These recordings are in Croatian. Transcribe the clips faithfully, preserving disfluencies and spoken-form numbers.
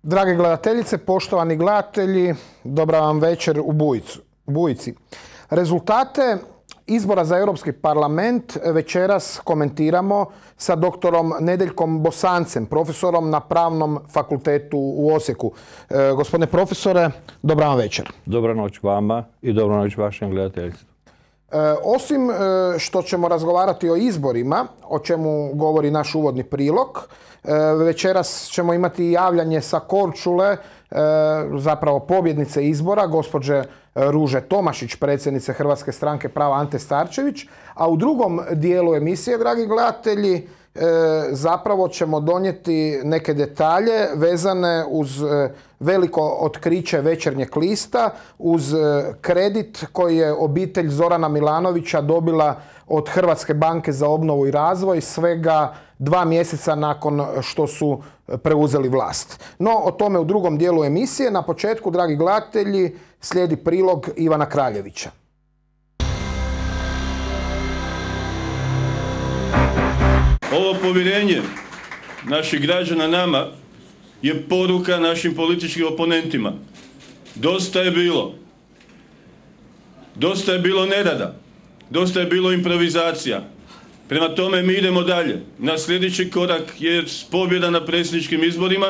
Drage gledateljice, poštovani gledatelji, dobra vam večer u Bujicu, Bujici. Rezultate izbora za Europski parlament večeras komentiramo sa doktorom Nedeljkom Bosancem, profesorom na Pravnom fakultetu u Osijeku. E, gospodine profesore, dobra vam večer. Dobra noć vama i dobra noć vašem gledateljstvu. E, osim e, što ćemo razgovarati o izborima, o čemu govori naš uvodni prilog, e, večeras ćemo imati javljanje sa Korčule, e, zapravo pobjednice izbora, gospođe Ruže Tomašić, predsjednice Hrvatske stranke prava Ante Starčević, a u drugom dijelu emisije, dragi gledatelji, e, zapravo ćemo donijeti neke detalje vezane uz e, veliko otkriće Večernjeg lista, uz e, kredit koji je obitelj Zorana Milanovića dobila od Hrvatske banke za obnovu i razvoj svega dva mjeseca nakon što su preuzeli vlast. No, o tome u drugom dijelu emisije. Na početku, dragi gledatelji, slijedi prilog Ivana Kraljevića. Ovo povjerenje naših građana nama je poruka našim političkim oponentima. Dosta je bilo. Dosta je bilo nerada. Dosta je bilo improvizacija. Prema tome mi idemo dalje. Na sljedeći korak je pobjeda na predsjedničkim izborima,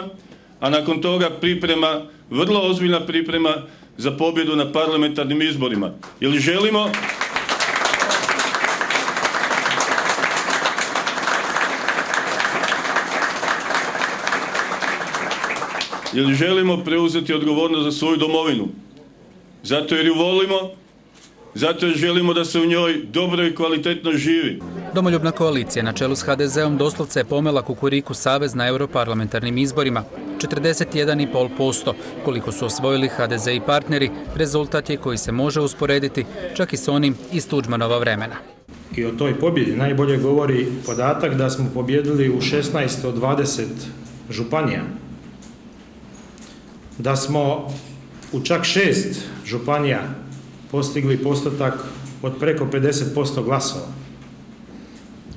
a nakon toga priprema, vrlo ozbiljna priprema za pobjedu na parlamentarnim izborima. Jer želimo jer želimo preuzeti odgovornost za svoju domovinu. Zato jer ju volimo, zato jer želimo da se u njoj dobro i kvalitetno živi. Domoljubna koalicija na čelu s ha de zeom doslovce je pomela Kukuriku savez na europarlamentarnim izborima. četrdeset jedan zarez pet posto. Koliko su osvojili ha de ze i partneri, rezultat je koji se može usporediti čak i s onim iz Tuđmanova vremena. I o toj pobjedi najbolje govori podatak da smo pobjedili u šesnaest od dvadeset županija. Da smo u čak šest županija postigli postotak od preko pedeset posto glasova.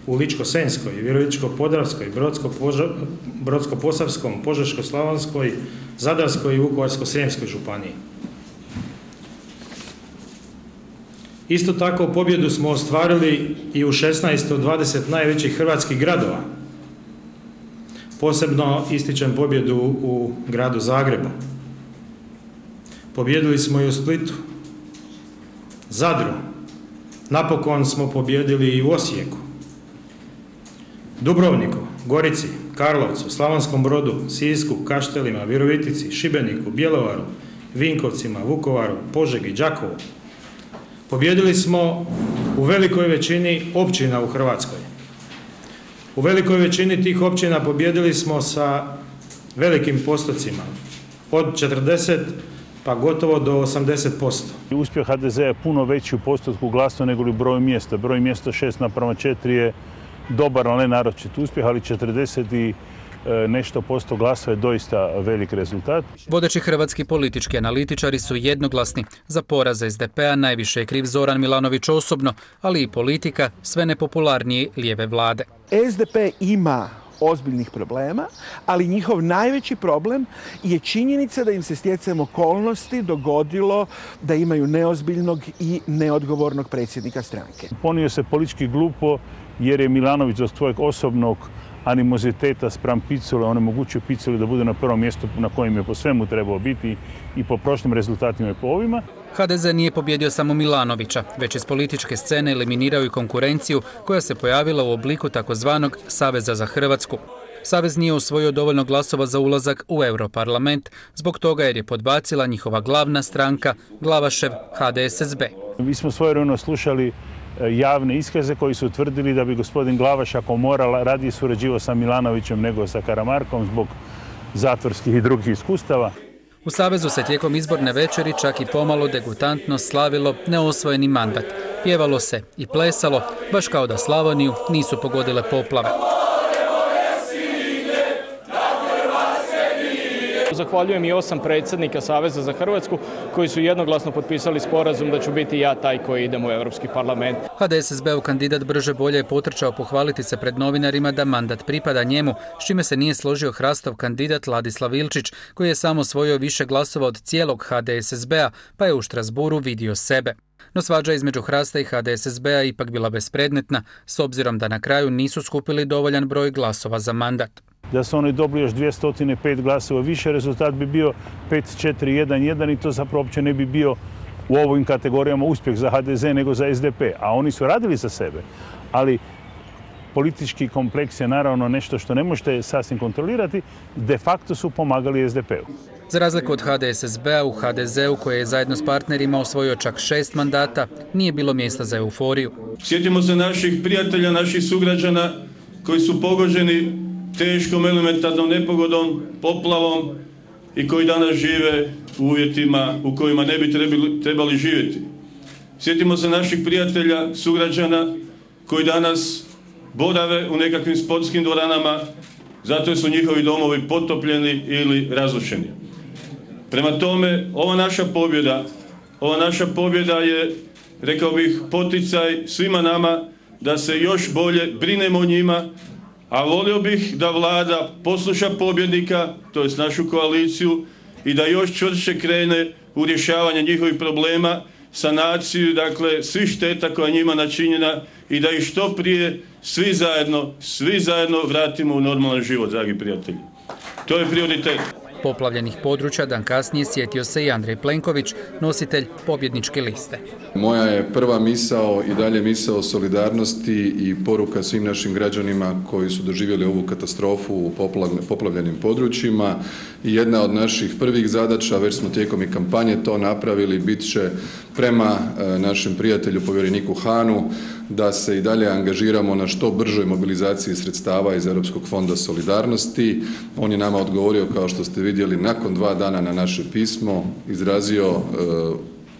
U Ličko-senjskoj, Virovitičko-podravskoj, Brodsko-posavskom, Požeško-slavonskoj, Zadarskoj i Vukovarsko-srijemskoj županiji. Isto tako pobjedu smo ostvarili i u šesnaest od dvadeset najvećih hrvatskih gradova. Posebno ističem pobjedu u gradu Zagrebu. Pobjedili smo i u Splitu, Zadru. Napokon smo pobjedili i u Osijeku, Dubrovniku, Gorici, Karlovcu, Slavonskom Brodu, Sisku, Kaštelima, Virovitici, Šibeniku, Bjelovaru, Vinkovcima, Vukovaru, Požegi, Đakovu. Pobjedili smo u velikoj većini općina u Hrvatskoj. U velikoj većini tih općina pobjedili smo sa velikim postocima, od četrdeset pa gotovo do osamdeset posto. Uspjeh ha de zea je puno veći u postotku glasova nego li broj mjesta. Broj mjesta šest naprema četiri je dobar, ali ne naročit uspjeh, ali četrdeset i nešto posto glasova je doista velik rezultat. Vodeći hrvatski politički analitičari su jednoglasni. Za poraz es de pea najviše je kriv Zoran Milanović osobno, ali i politika sve nepopularnije lijeve vlade. es de pe ima ozbiljnih problema, ali njihov najveći problem je činjenica da im se stjecajem okolnosti dogodilo da imaju neozbiljnog i neodgovornog predsjednika stranke. Ponio se politički glupo jer je Milanović zbog svojeg osobnog animoziteta spram Picule onemogućio Piculi da bude na prvom mjestu na kojem je po svemu trebao biti i po prošlim rezultatima i po ovima. ha de ze nije pobjedio samo Milanovića, već iz političke scene eliminirao i konkurenciju koja se pojavila u obliku takozvanog Saveza za Hrvatsku. Savez nije osvojio dovoljno glasova za ulazak u Europarlament, zbog toga jer je podbacila njihova glavna stranka, Glavašev ha de es es be. Mi smo svojevremeno slušali javne iskaze koji su utvrdili da bi gospodin Glavaš, ako mora, radije surađivao sa Milanovićem nego sa Karamarkom zbog zatvorskih i drugih iskustava. U Savezu se tijekom izborne večeri čak i pomalo degutantno slavilo neosvojeni mandat. Pjevalo se i plesalo, baš kao da Slavoniju nisu pogodile poplave. Zahvaljujem i osam predsjednika Saveza za Hrvatsku koji su jednoglasno potpisali sporazum da ću biti ja taj koji idem u Europski parlament. H D S S B-ov kandidat Brže bolje je potrčao pohvaliti se pred novinarima da mandat pripada njemu, s čime se nije složio Hrastov kandidat Ladislav Ilčić, koji je samo osvojio više glasova od cijelog H D S S B-a, pa je u Štrasburu vidio sebe. No svađa između Hrasta i H D S S B-a ipak bila bespredmetna, s obzirom da na kraju nisu skupili dovoljan broj glasova za mandat. Da su oni dobili još dvjesto pet glasova više, rezultat bi bio pet četiri jedan jedan i to zapravo uopće ne bi bio u ovim kategorijama uspjeh za H D Z nego za S D P. A oni su radili za sebe, ali politički kompleks je naravno nešto što ne možete sasvim kontrolirati, de facto su pomagali S D P-u. Za razliku od H D S S B-a, u H D Z-u, koji je zajedno s partnerima osvojio čak šest mandata, nije bilo mjesta za euforiju. Sjetimo se naših prijatelja, naših sugrađana koji su pogođeni teškom elementarnom nepogodom, poplavom i koji danas žive u uvjetima u kojima ne bi trebali, trebali živjeti. Sjetimo se naših prijatelja, sugrađana koji danas borave u nekakvim sportskim dvoranama zato su njihovi domovi potopljeni ili razrušeni. Prema tome, ova naša pobjeda, ova naša pobjeda je, rekao bih, poticaj svima nama da se još bolje brinemo o njima, a volio bih da vlada posluša pobjednika, to jest našu koaliciju, i da još čvršće krene u rješavanje njihovih problema, sanaciju, dakle, svih šteta koja je njima načinjena i da ih što prije svi zajedno, svi zajedno vratimo u normalan život, dragi prijatelji. To je prioritet. Poplavljenih područja dan kasnije sjetio se i Andrej Plenković, nositelj pobjedničke liste. Moja je prva misao i dalje misao solidarnosti i poruka svim našim građanima koji su doživjeli ovu katastrofu u poplavljenim područjima. I jedna od naših prvih zadaća, već smo tijekom i kampanje to napravili, bit će prema našem prijatelju povjereniku Hanu da se i dalje angažiramo na što bržoj mobilizaciji sredstava iz Europskog fonda solidarnosti. On je nama odgovorio, kao što ste vidjeli, nakon dva dana na naše pismo, izrazio e,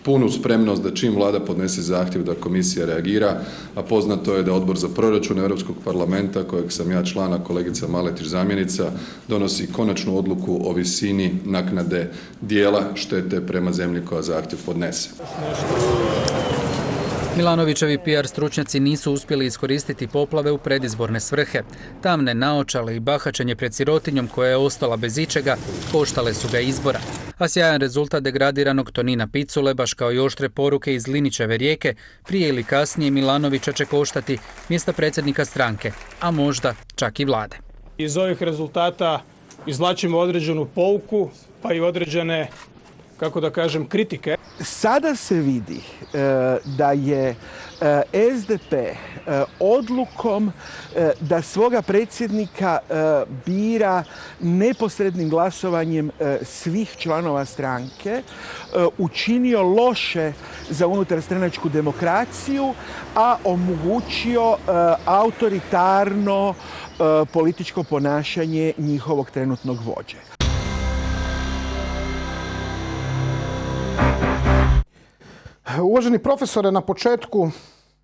punu spremnost da čim vlada podnese zahtjev da komisija reagira, a poznato je da Odbor za proračun Europskog parlamenta, kojeg sam ja član, a kolegica Maletić zamjenica, donosi konačnu odluku o visini naknade dijela štete prema zemlji koja zahtjev podnese. Milanovićevi P R stručnjaci nisu uspjeli iskoristiti poplave u predizborne svrhe. Tamne naočale i bahačenje pred sirotinjom koja je ostala bez ičega koštale su ga izbora. A sjajan rezultat degradiranog Tonina Picule, baš kao i oštre poruke iz Linićeve Rijeke, prije ili kasnije Milanovića će koštati mjesta predsjednika stranke, a možda čak i vlade. Iz ovih rezultata izvlačimo određenu pouku, pa i određene, kako da kažem, kritike. Sada se vidi e, da je e, S D P e, odlukom e, da svoga predsjednika e, bira neposrednim glasovanjem e, svih članova stranke e, učinio loše za unutarstranačku demokraciju, a omogućio e, autoritarno e, političko ponašanje njihovog trenutnog vođe. Uvaženi profesore, na početku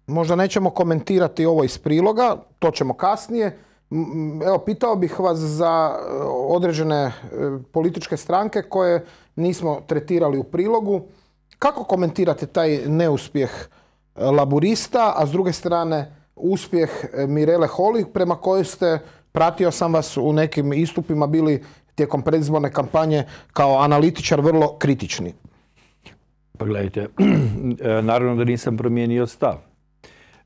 možda nećemo komentirati ovo iz priloga, to ćemo kasnije. Evo, pitao bih vas za određene političke stranke koje nismo tretirali u prilogu. Kako komentirate taj neuspjeh Laburista, a s druge strane uspjeh Mirele Holy, prema kojoj ste, pratio sam vas u nekim istupima, bili tijekom predizborne kampanje kao analitičar vrlo kritični? Pa gledajte, naravno da nisam promijenio stav.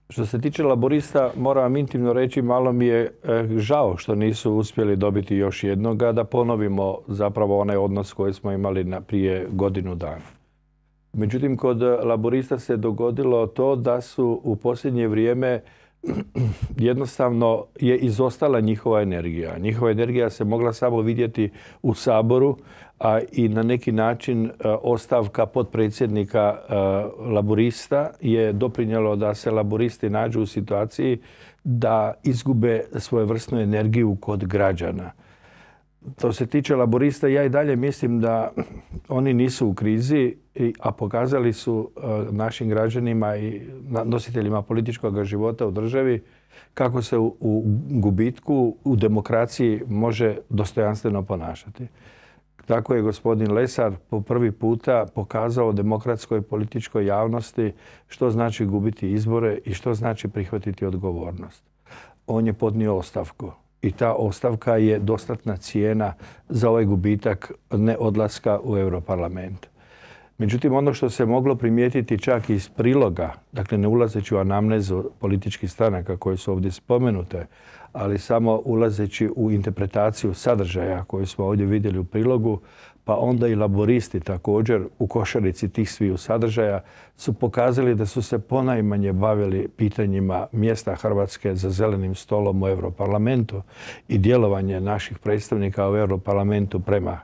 Što se tiče Laburista, moram vam intimno reći, malo mi je žao što nisu uspjeli dobiti još jednoga, da ponovimo zapravo onaj odnos koji smo imali na prije godinu dana. Međutim, kod Laburista se dogodilo to da su u posljednje vrijeme jednostavno je izostala njihova energija. Njihova energija se mogla samo vidjeti u Saboru, a i na neki način ostavka potpredsjednika Laburista je doprinijelo da se Laburisti nađu u situaciji da izgube svojevrsnu energiju kod građana. To se tiče Laburista, ja i dalje mislim da oni nisu u krizi, a pokazali su našim građanima i nositeljima političkog života u državi kako se u gubitku, u demokraciji može dostojanstveno ponašati. tako je gospodin Lesar po prvi puta pokazao demokratskoj političkoj javnosti što znači gubiti izbore i što znači prihvatiti odgovornost. On je podnio ostavku i ta ostavka je dostatna cijena za ovaj gubitak neodlaska u Europarlament. Međutim, ono što se moglo primijetiti čak iz priloga, dakle ne ulazeći u anamnezu političkih stranaka koje su ovdje spomenute, ali samo ulazeći u interpretaciju sadržaja koju smo ovdje vidjeli u prilogu, pa onda i laboristi također u košarici tih sviju sadržaja su pokazali da su se ponajmanje bavili pitanjima mjesta Hrvatske za zelenim stolom u Europarlamentu i djelovanje naših predstavnika u Europarlamentu prema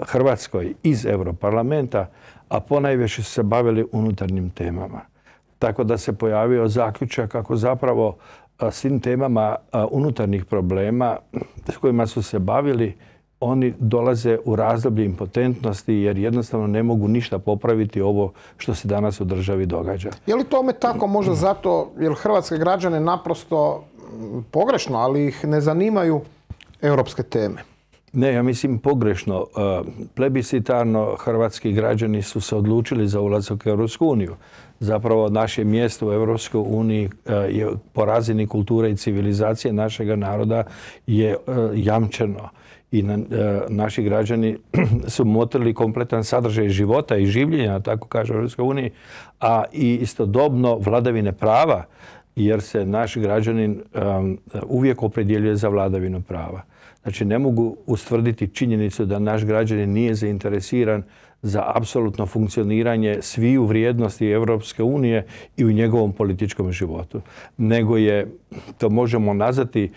Hrvatskoj iz Europarlamenta, a ponajviše su se bavili unutarnjim temama. Tako da se pojavio zaključak kako zapravo svim temama unutarnjih problema s kojima su se bavili, oni dolaze u razdoblje impotentnosti jer jednostavno ne mogu ništa popraviti ovo što se danas u državi događa. Je li tome tako možda zato jer hrvatske građane naprosto pogrešno, ali ih ne zanimaju europske teme? Ne, ja mislim pogrešno. Plebiscitarno hrvatski građani su se odlučili za ulazak u Europsku uniju. Zapravo naše mjesto u Europskoj uniji je po razini kulture i civilizacije našega naroda je jamčeno. I na, e, naši građani su motrili kompletan sadržaj života i življenja, tako kaže u Europskoj uniji, a i istodobno vladavine prava, jer se naš građanin um, uvijek opredjeljuje za vladavinu prava. Znači, ne mogu ustvrditi činjenicu da naš građanin nije zainteresiran za apsolutno funkcioniranje sviju vrijednosti Europske unije i u njegovom političkom životu. Nego je, to možemo nazvati,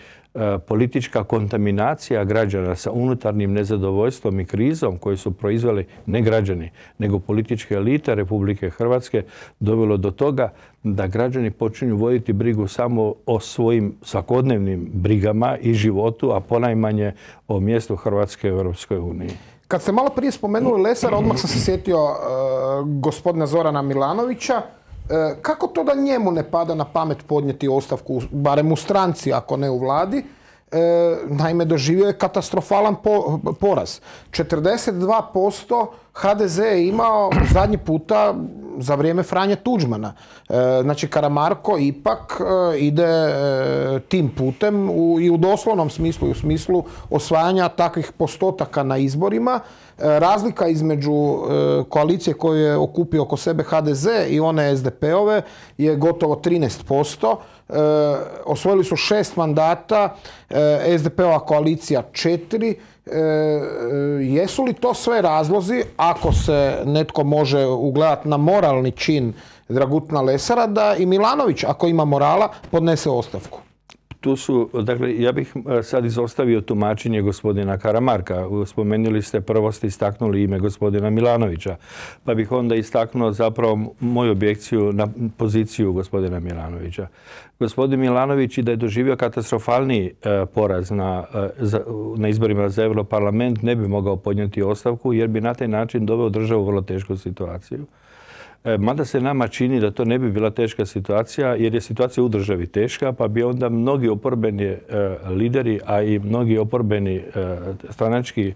politička kontaminacija građana sa unutarnjim nezadovoljstvom i krizom koji su proizveli ne građani, nego političke elite Republike Hrvatske dovelo do toga da građani počinju voditi brigu samo o svojim svakodnevnim brigama i životu, a ponajmanje o mjestu Hrvatske u Europskoj uniji. Kad ste malo prije spomenuli Lesara, odmah sam se sjetio uh, gospodina Zorana Milanovića. Uh, kako to da njemu ne pada na pamet podnijeti ostavku, barem u stranci, ako ne u vladi? Uh, naime, doživio je katastrofalan po, poraz. četrdeset dva posto ha de ze je imao zadnji puta za vrijeme Franje Tuđmana. E, znači, Karamarko ipak e, ide e, tim putem u, i u doslovnom smislu i u smislu osvajanja takvih postotaka na izborima. E, razlika između e, koalicije koju je okupio oko sebe ha de ze i one es de pe ove je gotovo trinaest posto. E, osvojili su šest mandata, e, es de pe ova koalicija četiri. E, jesu li to sve razlozi, ako se netko može ugledati na moralni čin Dragutina Lesara, da i Milanović, ako ima morala, podnese ostavku? Tu su, dakle, ja bih sad izostavio tumačenje gospodina Karamarka. Spomenuli ste, prvo ste istaknuli ime gospodina Milanovića, pa bih onda istaknuo zapravo moju objekciju na poziciju gospodina Milanovića. Gospodin Milanović, i da je doživio katastrofalni e, poraz na, e, za, na izborima za Europarlament, ne bi mogao podnijeti ostavku jer bi na taj način doveo državu u vrlo tešku situaciju. Mada se nama čini da to ne bi bila teška situacija, jer je situacija u državi teška, pa bi onda mnogi oporbeni e, lideri, a i mnogi oporbeni e, stranački e,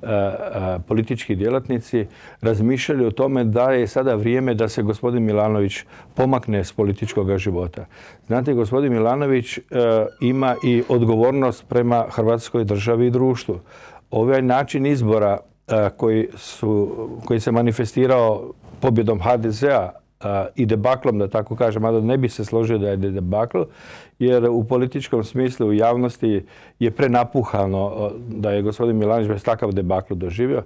e, politički djelatnici razmišljali o tome da je sada vrijeme da se gospodin Milanović pomakne s političkog života. Znate, gospodin Milanović e, ima i odgovornost prema Hrvatskoj državi i društvu. Ovaj način izbora e, koji, su, koji se manifestirao pobjedom ha de zea i debaklom, da tako kažem, mada ne bi se složio da je debakl, jer u političkom smislu u javnosti je prenapuhano da je gospodin Milanović bez takav debakl doživio.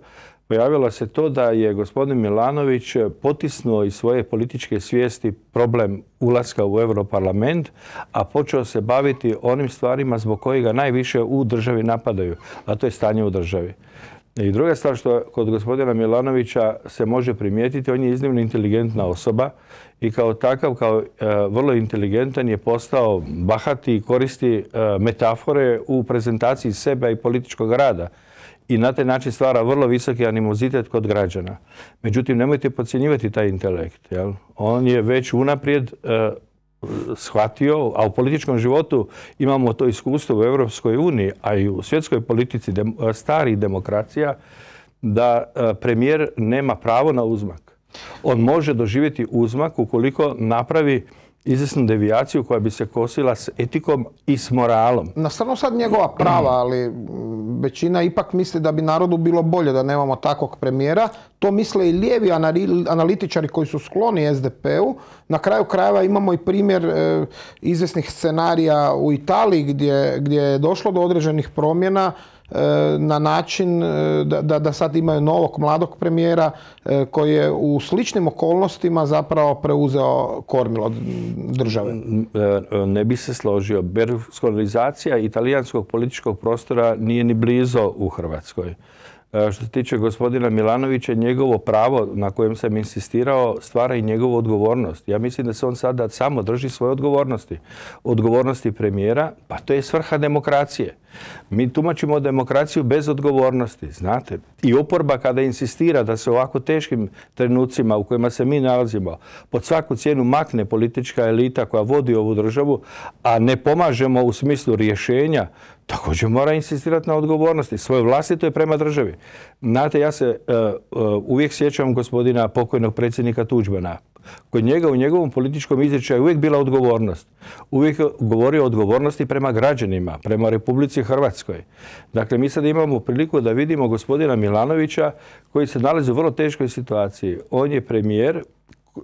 Pojavilo se to da je gospodin Milanović potisnuo iz svoje političke svijesti problem ulaska u Europarlament, a počeo se baviti onim stvarima zbog kojega najviše u državi napadaju, a to je stanje u državi. I druga stvar što kod gospodina Milanovića se može primijetiti, on je iznimno inteligentna osoba i kao takav, kao e, vrlo inteligentan je postao bahati i koristi e, metafore u prezentaciji sebe i političkog rada. I na taj način stvara vrlo visoki animozitet kod građana. Međutim, nemojte podcjenjivati taj intelekt. Jel? On je već unaprijed e, shvatio, a u političkom životu imamo to iskustvo u Europskoj uniji, a i u svjetskoj politici dem, starih demokracija, da premijer nema pravo na uzmak. On može doživjeti uzmak ukoliko napravi izvjesnu devijaciju koja bi se kosila s etikom i s moralom. Na stranu sad njegova prava, ali većina ipak misli da bi narodu bilo bolje da nemamo takvog premijera. To misle i lijevi analitičari koji su skloni es de pe-u. Na kraju krajeva imamo i primjer e, izvjesnih scenarija u Italiji gdje, gdje je došlo do određenih promjena na način da, da, da sad imaju novog mladog premijera koji je u sličnim okolnostima zapravo preuzeo kormilo države. Ne bi se složio. Berlusconizacija italijanskog političkog prostora nije ni blizo u Hrvatskoj. Što se tiče gospodina Milanovića, njegovo pravo na kojem sam insistirao stvara i njegovu odgovornost. Ja mislim da se on sada samo drži svoje odgovornosti. Odgovornosti premijera, pa to je svrha demokracije. Mi tumačimo demokraciju bez odgovornosti, znate. I oporba kada insistira da se u ovako teškim trenucima u kojima se mi nalazimo pod svaku cijenu makne politička elita koja vodi ovu državu, a ne pomažemo u smislu rješenja, također mora insistirati na odgovornosti. Svoje vlastito je prema državi. Znate, ja se uh, uh, uvijek sjećam gospodina pokojnog predsjednika Tuđmana. Kod njega u njegovom političkom izričaju uvijek bila odgovornost. Uvijek govorio o odgovornosti prema građanima, prema Republici Hrvatskoj. Dakle, mi sad imamo priliku da vidimo gospodina Milanovića koji se nalazi u vrlo teškoj situaciji. On je premijer uh,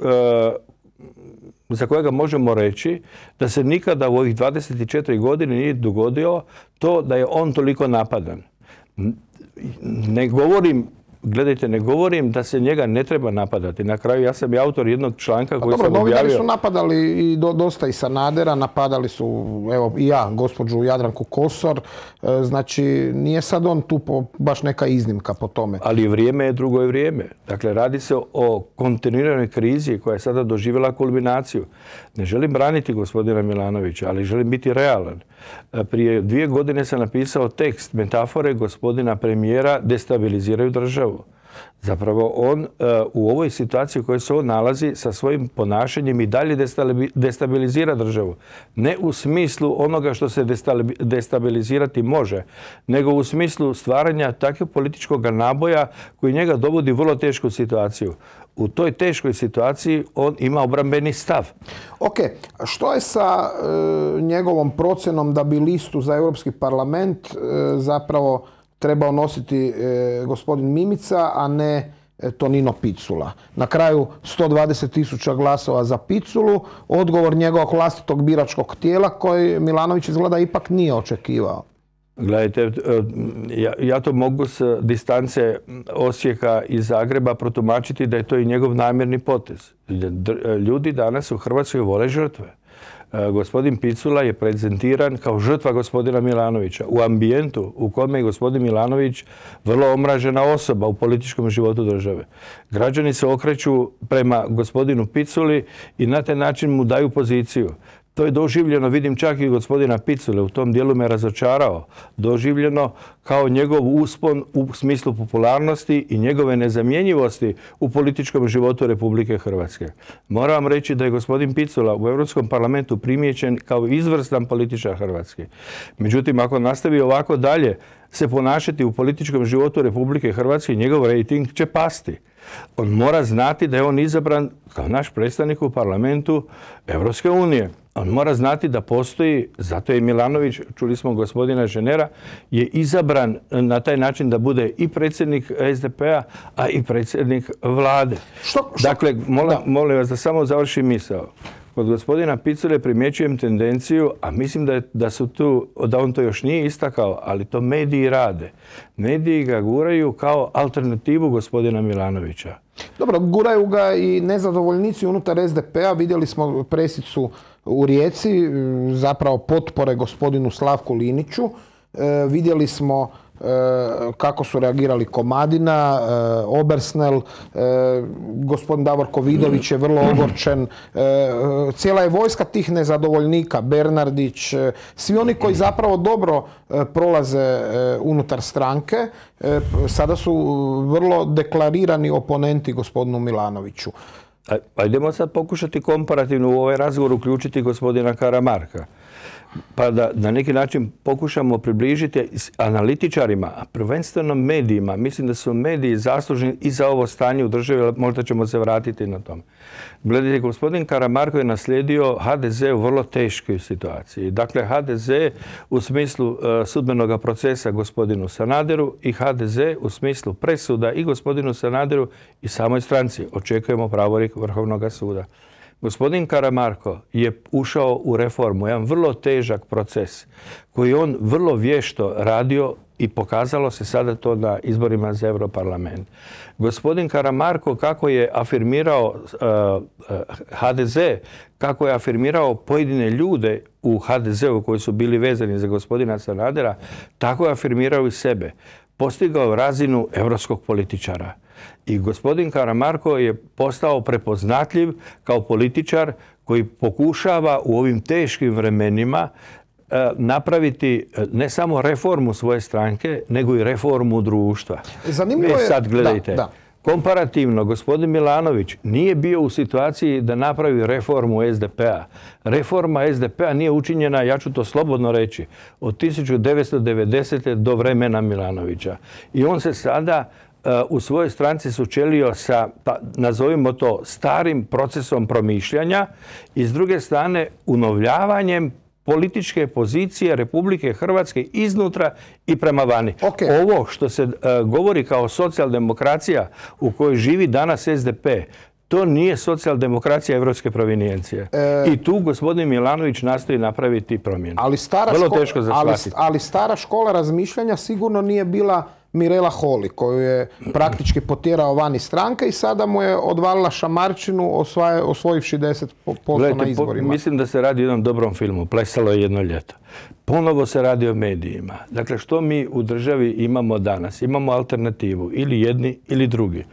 za kojega možemo reći da se nikada u ovih dvadeset četiri godine nije dogodio to da je on toliko napadan. Ne govorim Gledajte, ne govorim da se njega ne treba napadati. Na kraju ja sam i autor jednog članka koji pa, sam dobro, objavio. Novinari su napadali i do, dosta i Sanadera, napadali su, evo i ja, gospođu Jadranku Kosor. E, znači, nije sad on tu po, baš neka iznimka po tome. Ali vrijeme je drugo vrijeme. Dakle, radi se o kontinuiranoj krizi koja je sada doživjela kulminaciju. Ne želim braniti gospodina Milanovića, ali želim biti realan. Prije dvije godine sam napisao tekst, metafore gospodina premijera destabiliziraju državu. Zapravo on u ovoj situaciji u kojoj se on nalazi sa svojim ponašanjem i dalje destabilizira državu. Ne u smislu onoga što se destabilizirati može, nego u smislu stvaranja takvog političkog naboja koji njega dovodi u vrlo tešku situaciju. U toj teškoj situaciji on ima obrambeni stav. Ok, što je sa e, njegovom procjenom da bi listu za Europski parlament e, zapravo trebao nositi e, gospodin Mimica, a ne e, Tonino Picula? Na kraju sto dvadeset tisuća glasova za Piculu, odgovor njegovog vlastitog biračkog tijela koji Milanović izgleda ipak nije očekivao. Gledajte, ja, ja to mogu s distance Osijeka i Zagreba protumačiti da je to i njegov namjerni potez. Ljudi danas u Hrvatskoj vole žrtve. Gospodin Picula je prezentiran kao žrtva gospodina Milanovića u ambijentu u kome je gospodin Milanović vrlo omražena osoba u političkom životu države. Građani se okreću prema gospodinu Piculi i na taj način mu daju poziciju. To je doživljeno, vidim čak i gospodina Picule, u tom dijelu me razočarao, doživljeno kao njegov uspon u smislu popularnosti i njegove nezamjenjivosti u političkom životu Republike Hrvatske. Moram vam reći da je gospodin Picula u Europskom parlamentu primijećen kao izvrstan političar Hrvatske. Međutim, ako nastavi ovako dalje se ponašati u političkom životu Republike Hrvatske, njegov rejting će pasti. On mora znati da je on izabran kao naš predstavnik u parlamentu Europske unije. On mora znati da postoji, zato je Milanović, čuli smo gospodina Ženera, je izabran na taj način da bude i predsjednik es de pe-a, a i predsjednik vlade. Što, što? Dakle, molim, molim vas da samo završim misao. Kod gospodina Picule primjećujem tendenciju, a mislim da, je, da, su tu, da on to još nije istakao, ali to mediji rade. Mediji ga guraju kao alternativu gospodina Milanovića. Dobro, guraju ga i nezadovoljnici unutar es de pe-a. Vidjeli smo presicu u Rijeci, zapravo potpore gospodinu Slavku Liniću. E, vidjeli smo e, kako su reagirali Komadina, e, Obersnel, e, gospodin Davorko Vidović je vrlo ogorčen. E, cijela je vojska tih nezadovoljnika, Bernardić, e, svi oni koji zapravo dobro e, prolaze e, unutar stranke, e, sada su vrlo deklarirani oponenti gospodinu Milanoviću. A idemo sad pokušati komparativno u ovaj razgovor uključiti gospodina Karamarka. pa da na neki način pokušamo približiti analitičarima, a prvenstveno medijima. Mislim da su mediji zaslužni i za ovo stanje u državi, možda ćemo se vratiti na tom. Gledajte, gospodin Karamarko je naslijedio ha de ze u vrlo teškoj situaciji. Dakle, ha de ze u smislu uh, sudbenog procesa gospodinu Sanaderu i ha de ze u smislu presuda i gospodinu Sanaderu i samoj stranci. Očekujemo pravorijek Vrhovnog suda. Gospodin Karamarko je ušao u reformu, jedan vrlo težak proces koji on vrlo vješto radio i pokazalo se sada to na izborima za Europarlament. Gospodin Karamarko, kako je afirmirao uh, uh, ha de ze, kako je afirmirao pojedine ljude u ha de zeu koji su bili vezani za gospodina Sanadera, tako je afirmirao i sebe. Postigao razinu europskog političara. I gospodin Karamarko je postao prepoznatljiv kao političar koji pokušava u ovim teškim vremenima napraviti ne samo reformu svoje stranke, nego i reformu društva. Zanimljivo je... E sad gledajte, da, da. Komparativno, gospodin Milanović nije bio u situaciji da napravi reformu es de pe-a. Reforma es de pe-a nije učinjena, ja ću to slobodno reći, od tisuću devetsto devedesete. do vremena Milanovića. I on se sada u svojoj stranci sučelio sa, nazovimo to, starim procesom promišljanja i s druge strane unovljavanjem političke pozicije Republike Hrvatske iznutra i prema vani. Okay. Ovo što se uh, govori kao socijaldemokracija u kojoj živi danas es de pe, to nije socijaldemokracija evropske provinijencije. E... I tu gospodin Milanović nastoji napraviti promjenu. Ali stara, Vrlo škola, teško za ali, shvatiti. ali stara škola razmišljanja sigurno nije bila Mirela Holy, koju je praktički potjerao van iz stranke i sada mu je odvalila šamarčinu osvaja, osvojivši deset posto na izborima. Po, mislim da se radi o jednom dobrom filmu. Plesalo je jedno ljeto. Ponovo se radi o medijima. Dakle, što mi u državi imamo danas? Imamo alternativu. Ili jedni ili drugi.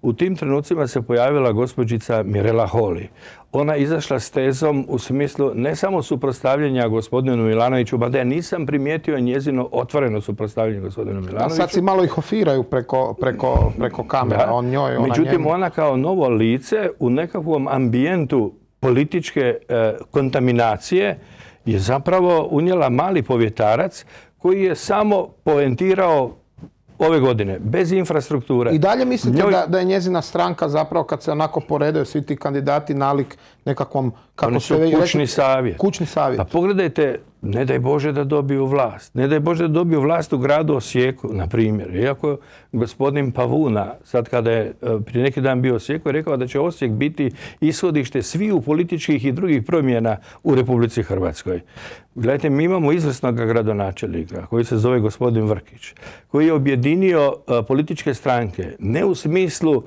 U tim trenucima se pojavila gospođica Mirela Holy. Ona je izašla s tezom u smislu ne samo suprotstavljanja gospodinu Milanoviću, mada ja nisam primijetio njezino otvoreno suprotstavljanje gospodinu Milanoviću. A sad si malo ih ofiraju preko, preko, preko kamera. Da. On njoj, ona Međutim, njemu. ona kao novo lice u nekakvom ambijentu političke e, kontaminacije je zapravo unijela mali povjetarac koji je samo poentirao ove godine, bez infrastrukture. I dalje mislite Njoj... da, da je njezina stranka zapravo kad se onako poredaju svi ti kandidati nalik nekakvom... Kako Oni su kućni reći, savjet. Kućni savjet. Pa pogledajte, ne daj Bože da dobiju vlast. Ne daj Bože da dobiju vlast u gradu Osijeku, na primjer. Iako gospodin Pavuna, sad kada je prije neki dan bio u Osijeku, je rekao da će Osijek biti ishodište sviju političkih i drugih promjena u Republici Hrvatskoj. Gledajte, mi imamo izvrsnog gradonačelnika koji se zove gospodin Vrkić, koji je objedinio političke stranke, ne u smislu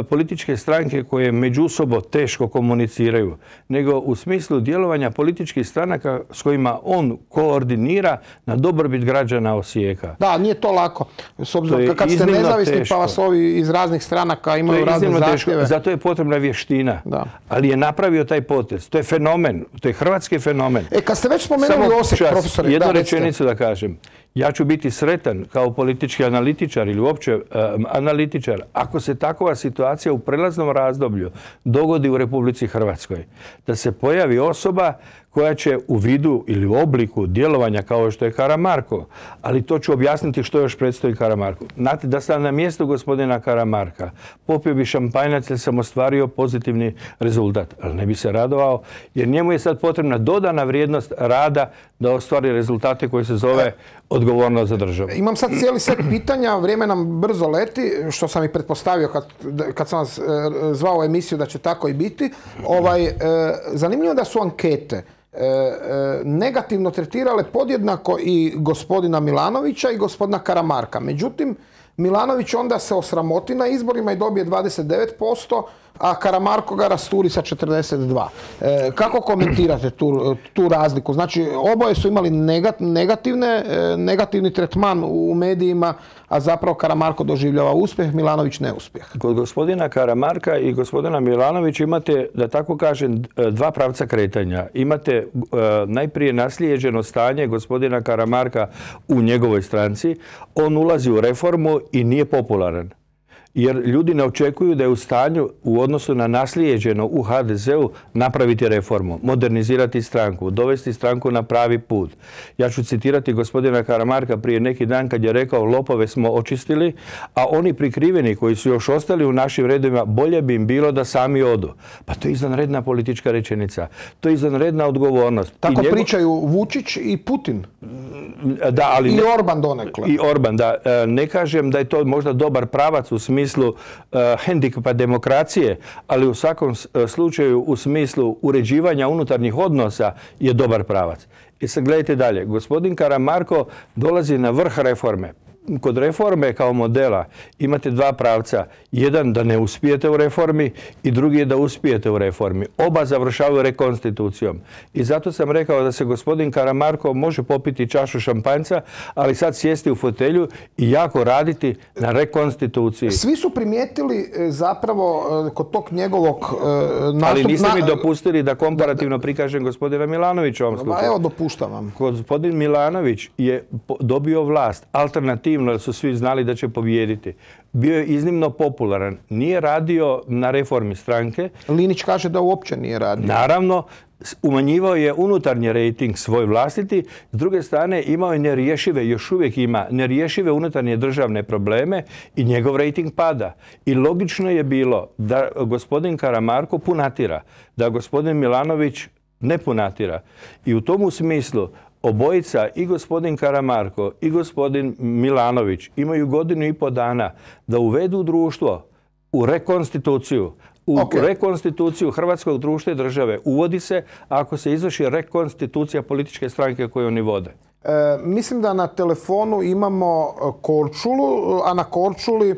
političke stranke koje međusobno teško komuniciraju, nego u smislu djelovanja političkih stranaka s kojima on koordinira na dobrobit građana Osijeka. Da, nije to lako. S obzirom, kad ste nezavisni teško. Pa vas ovi iz raznih stranaka imaju razne zahtjeve. Teško. Zato je potrebna vještina. Da. Ali je napravio taj potez. To je fenomen. To je hrvatski fenomen. E, kad ste već spomenuli Osijek, profesore... Jednu da, rečenicu da kažem. Ja ću biti sretan kao politički analitičar ili uopće um, analitičar ako se takova situacija u prelaznom razdoblju dogodi u Republici Hrvatskoj. Da se pojavi osoba koja će u vidu ili u obliku djelovanja kao što je Karamarko, ali to ću objasniti što još predstoji Karamarku. Znate, da sam na mjestu gospodina Karamarka popio bi šampanjac jer sam ostvario pozitivni rezultat, ali ne bi se radovao jer njemu je sad potrebna dodana vrijednost rada da ostvari rezultate koji se zove odgovornost za državu. Imam sad cijeli set pitanja, vrijeme nam brzo leti, što sam i pretpostavio kad, kad sam vas e, zvao u emisiju da će tako i biti. Ovaj, e, zanimljivo da su ankete E, e, negativno tretirale podjednako i gospodina Milanovića i gospodina Karamarka. Međutim, Milanović onda se osramoti na izborima i dobije dvadeset devet posto, a Karamarko ga rasturi sa četrdeset dva. E, kako komentirate tu, tu razliku? Znači, oboje su imali negativne, negativni tretman u medijima, a zapravo Karamarko doživljava uspjeh, Milanović neuspjeh. Kod gospodina Karamarka i gospodina Milanovića imate, da tako kažem, dva pravca kretanja. Imate uh, najprije naslijeđeno stanje gospodina Karamarka u njegovoj stranci. On ulazi u reformu i nije popularan. jer ljudi ne očekuju da je u stanju u odnosu na naslijeđeno u ha de zeu napraviti reformu, modernizirati stranku, dovesti stranku na pravi put. Ja ću citirati gospodina Karamarka prije neki dan kad je rekao lopove smo očistili, a oni prikriveni koji su još ostali u našim redovima bolje bi im bilo da sami odu. Pa to je izvanredna politička rečenica. To je izvanredna odgovornost. Tako I njegov... pričaju Vučić i Putin. Da, ali I ne... Orban donekle. I Orban, da. Ne kažem da je to možda dobar pravac u smislu uh, hendikepa demokracije, ali u svakom slučaju u smislu uređivanja unutarnjih odnosa je dobar pravac. I sad gledajte dalje. Gospodin Karamarko dolazi na vrh reforme. Kod reforme kao modela imate dva pravca. Jedan da ne uspijete u reformi i drugi je da uspijete u reformi. Oba završavaju rekonstitucijom. I zato sam rekao da se gospodin Karamarko može popiti čašu šampanjca, ali sad sjesti u fotelju i jako raditi na rekonstituciji. Svi su primijetili zapravo kod tog njegovog nastupa... Ali niste mi dopustili da komparativno prikažem gospodina Milanovića u ovom slučaju. Evo, dopuštam vam. Gospodin Milanović je dobio vlast alternativno, jer su svi znali da će pobijediti. Bio je iznimno popularan. Nije radio na reformi stranke. Linić kaže da uopće nije radio. Naravno, umanjivao je unutarnji rejting svoj vlastiti. S druge strane, imao je nerješive, još uvijek ima nerješive unutarnje državne probleme i njegov rejting pada. I logično je bilo da gospodin Karamarko punatira, da gospodin Milanović ne punatira. I u tomu smislu obojica, i gospodin Karamarko i gospodin Milanović, imaju godinu i po dana da uvedu društvo u rekonstituciju. U okay. rekonstituciju hrvatskog društva i države uvodi se ako se izvrši rekonstitucija političke stranke koju oni vode. E, mislim da na telefonu imamo Korčulu, a na Korčuli e,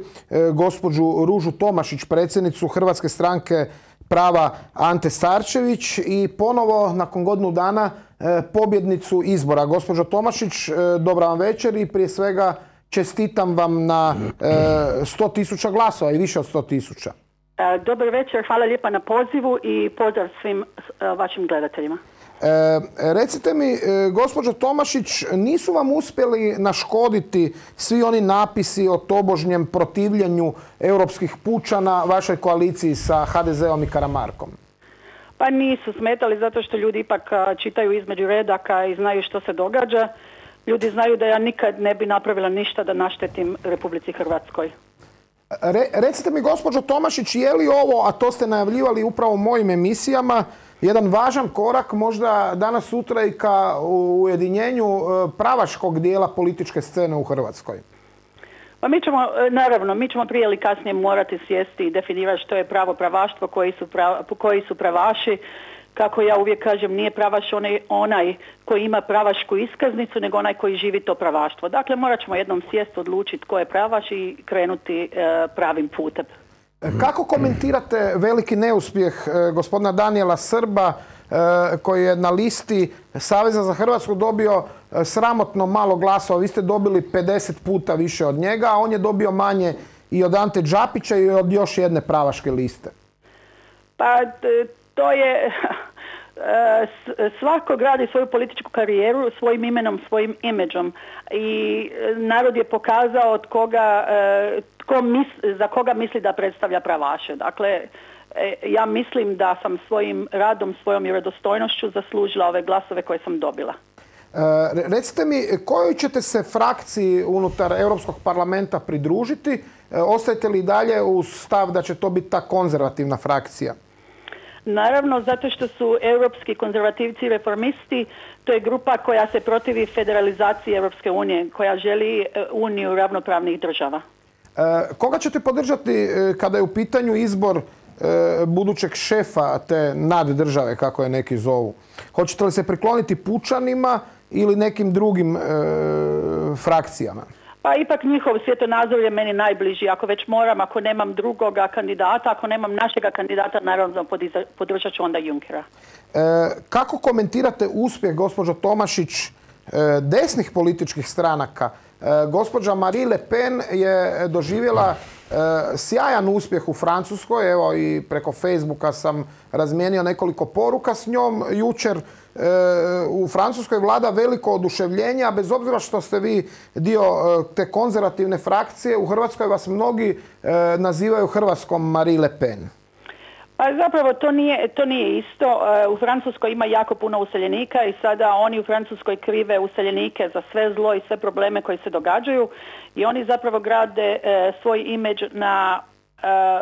gospođu Ružu Tomašić, predsjednicu Hrvatske stranke prava Ante Starčević i ponovo nakon godinu dana e, pobjednicu izbora. Gospođo Tomašić, e, dobra vam večer i prije svega čestitam vam na e, sto tisuća glasova i više od sto tisuća. Dobar večer, hvala lijepa na pozivu i pozdrav svim vašim gledateljima. E, recite mi, e, gospođo Tomašić, nisu vam uspjeli naškoditi svi oni napisi o tobožnjem protivljenju europskih pučana vašoj koaliciji sa ha de zeom i Karamarkom? Pa nisu smetali zato što ljudi ipak čitaju između redaka i znaju što se događa. Ljudi znaju da ja nikad ne bi napravila ništa da naštetim Republici Hrvatskoj. Re, recite mi, gospođo Tomašić, je li ovo, a to ste najavljivali upravo u mojim emisijama, jedan važan korak možda danas sutra i ka ujedinjenju pravaškog dijela političke scene u Hrvatskoj? Pa mi ćemo, naravno, mi ćemo prije ili kasnije morati sjesti i definirati što je pravo pravaštvo, koji su, prav, koji su pravaši. Kako ja uvijek kažem, nije pravaš onaj, onaj koji ima pravašku iskaznicu, nego onaj koji živi to pravaštvo. Dakle, morat ćemo jednom sjesti, odlučiti ko je pravaš i krenuti e, pravim putem. Kako komentirate veliki neuspjeh e, gospodina Danijela Srba, e, koji je na listi Saveza za Hrvatsku dobio e, sramotno malo glasova? Vi ste dobili pedeset puta više od njega, a on je dobio manje i od Ante Đapića i od još jedne pravaške liste. Pa to je... Svako gradi svoju političku karijeru svojim imenom, svojim imidžom i narod je pokazao od koga, tko mis, za koga misli da predstavlja pravaše. Dakle, ja mislim da sam svojim radom, svojom vjerodostojnošću zaslužila ove glasove koje sam dobila. E, recite mi, kojoj ćete se frakciji unutar Europskog parlamenta pridružiti? E, ostajete li dalje uz stav da će to biti ta konzervativna frakcija? Naravno, zato što su europski konzervativci i reformisti, to je grupa koja se protivi federalizaciji Europske unije, koja želi uniju ravnopravnih država. E, koga ćete podržati kada je u pitanju izbor e, budućeg šefa te naddržave, kako je neki zovu? Hoćete li se prikloniti pučanima ili nekim drugim e, frakcijama? Pa ipak njihov svjetonazor je meni najbliži. Ako već moram, ako nemam drugoga kandidata, ako nemam našega kandidata, naravno podržat ću onda Junckera. E, kako komentirate uspjeh, gospođo Tomašić, e, desnih političkih stranaka? E, gospođa Marie Le Pen je doživjela e, sjajan uspjeh u Francuskoj. Evo i preko Facebooka sam razmijenio nekoliko poruka s njom jučer. u Francuskoj vlada veliko oduševljenje, a bez obzira što ste vi dio te konzervativne frakcije, u Hrvatskoj vas mnogi nazivaju hrvatskom Marie Le Pen. Pa zapravo to nije, to nije isto. U Francuskoj ima jako puno useljenika i sada oni u Francuskoj krive useljenike za sve zlo i sve probleme koji se događaju i oni zapravo grade svoj imidž na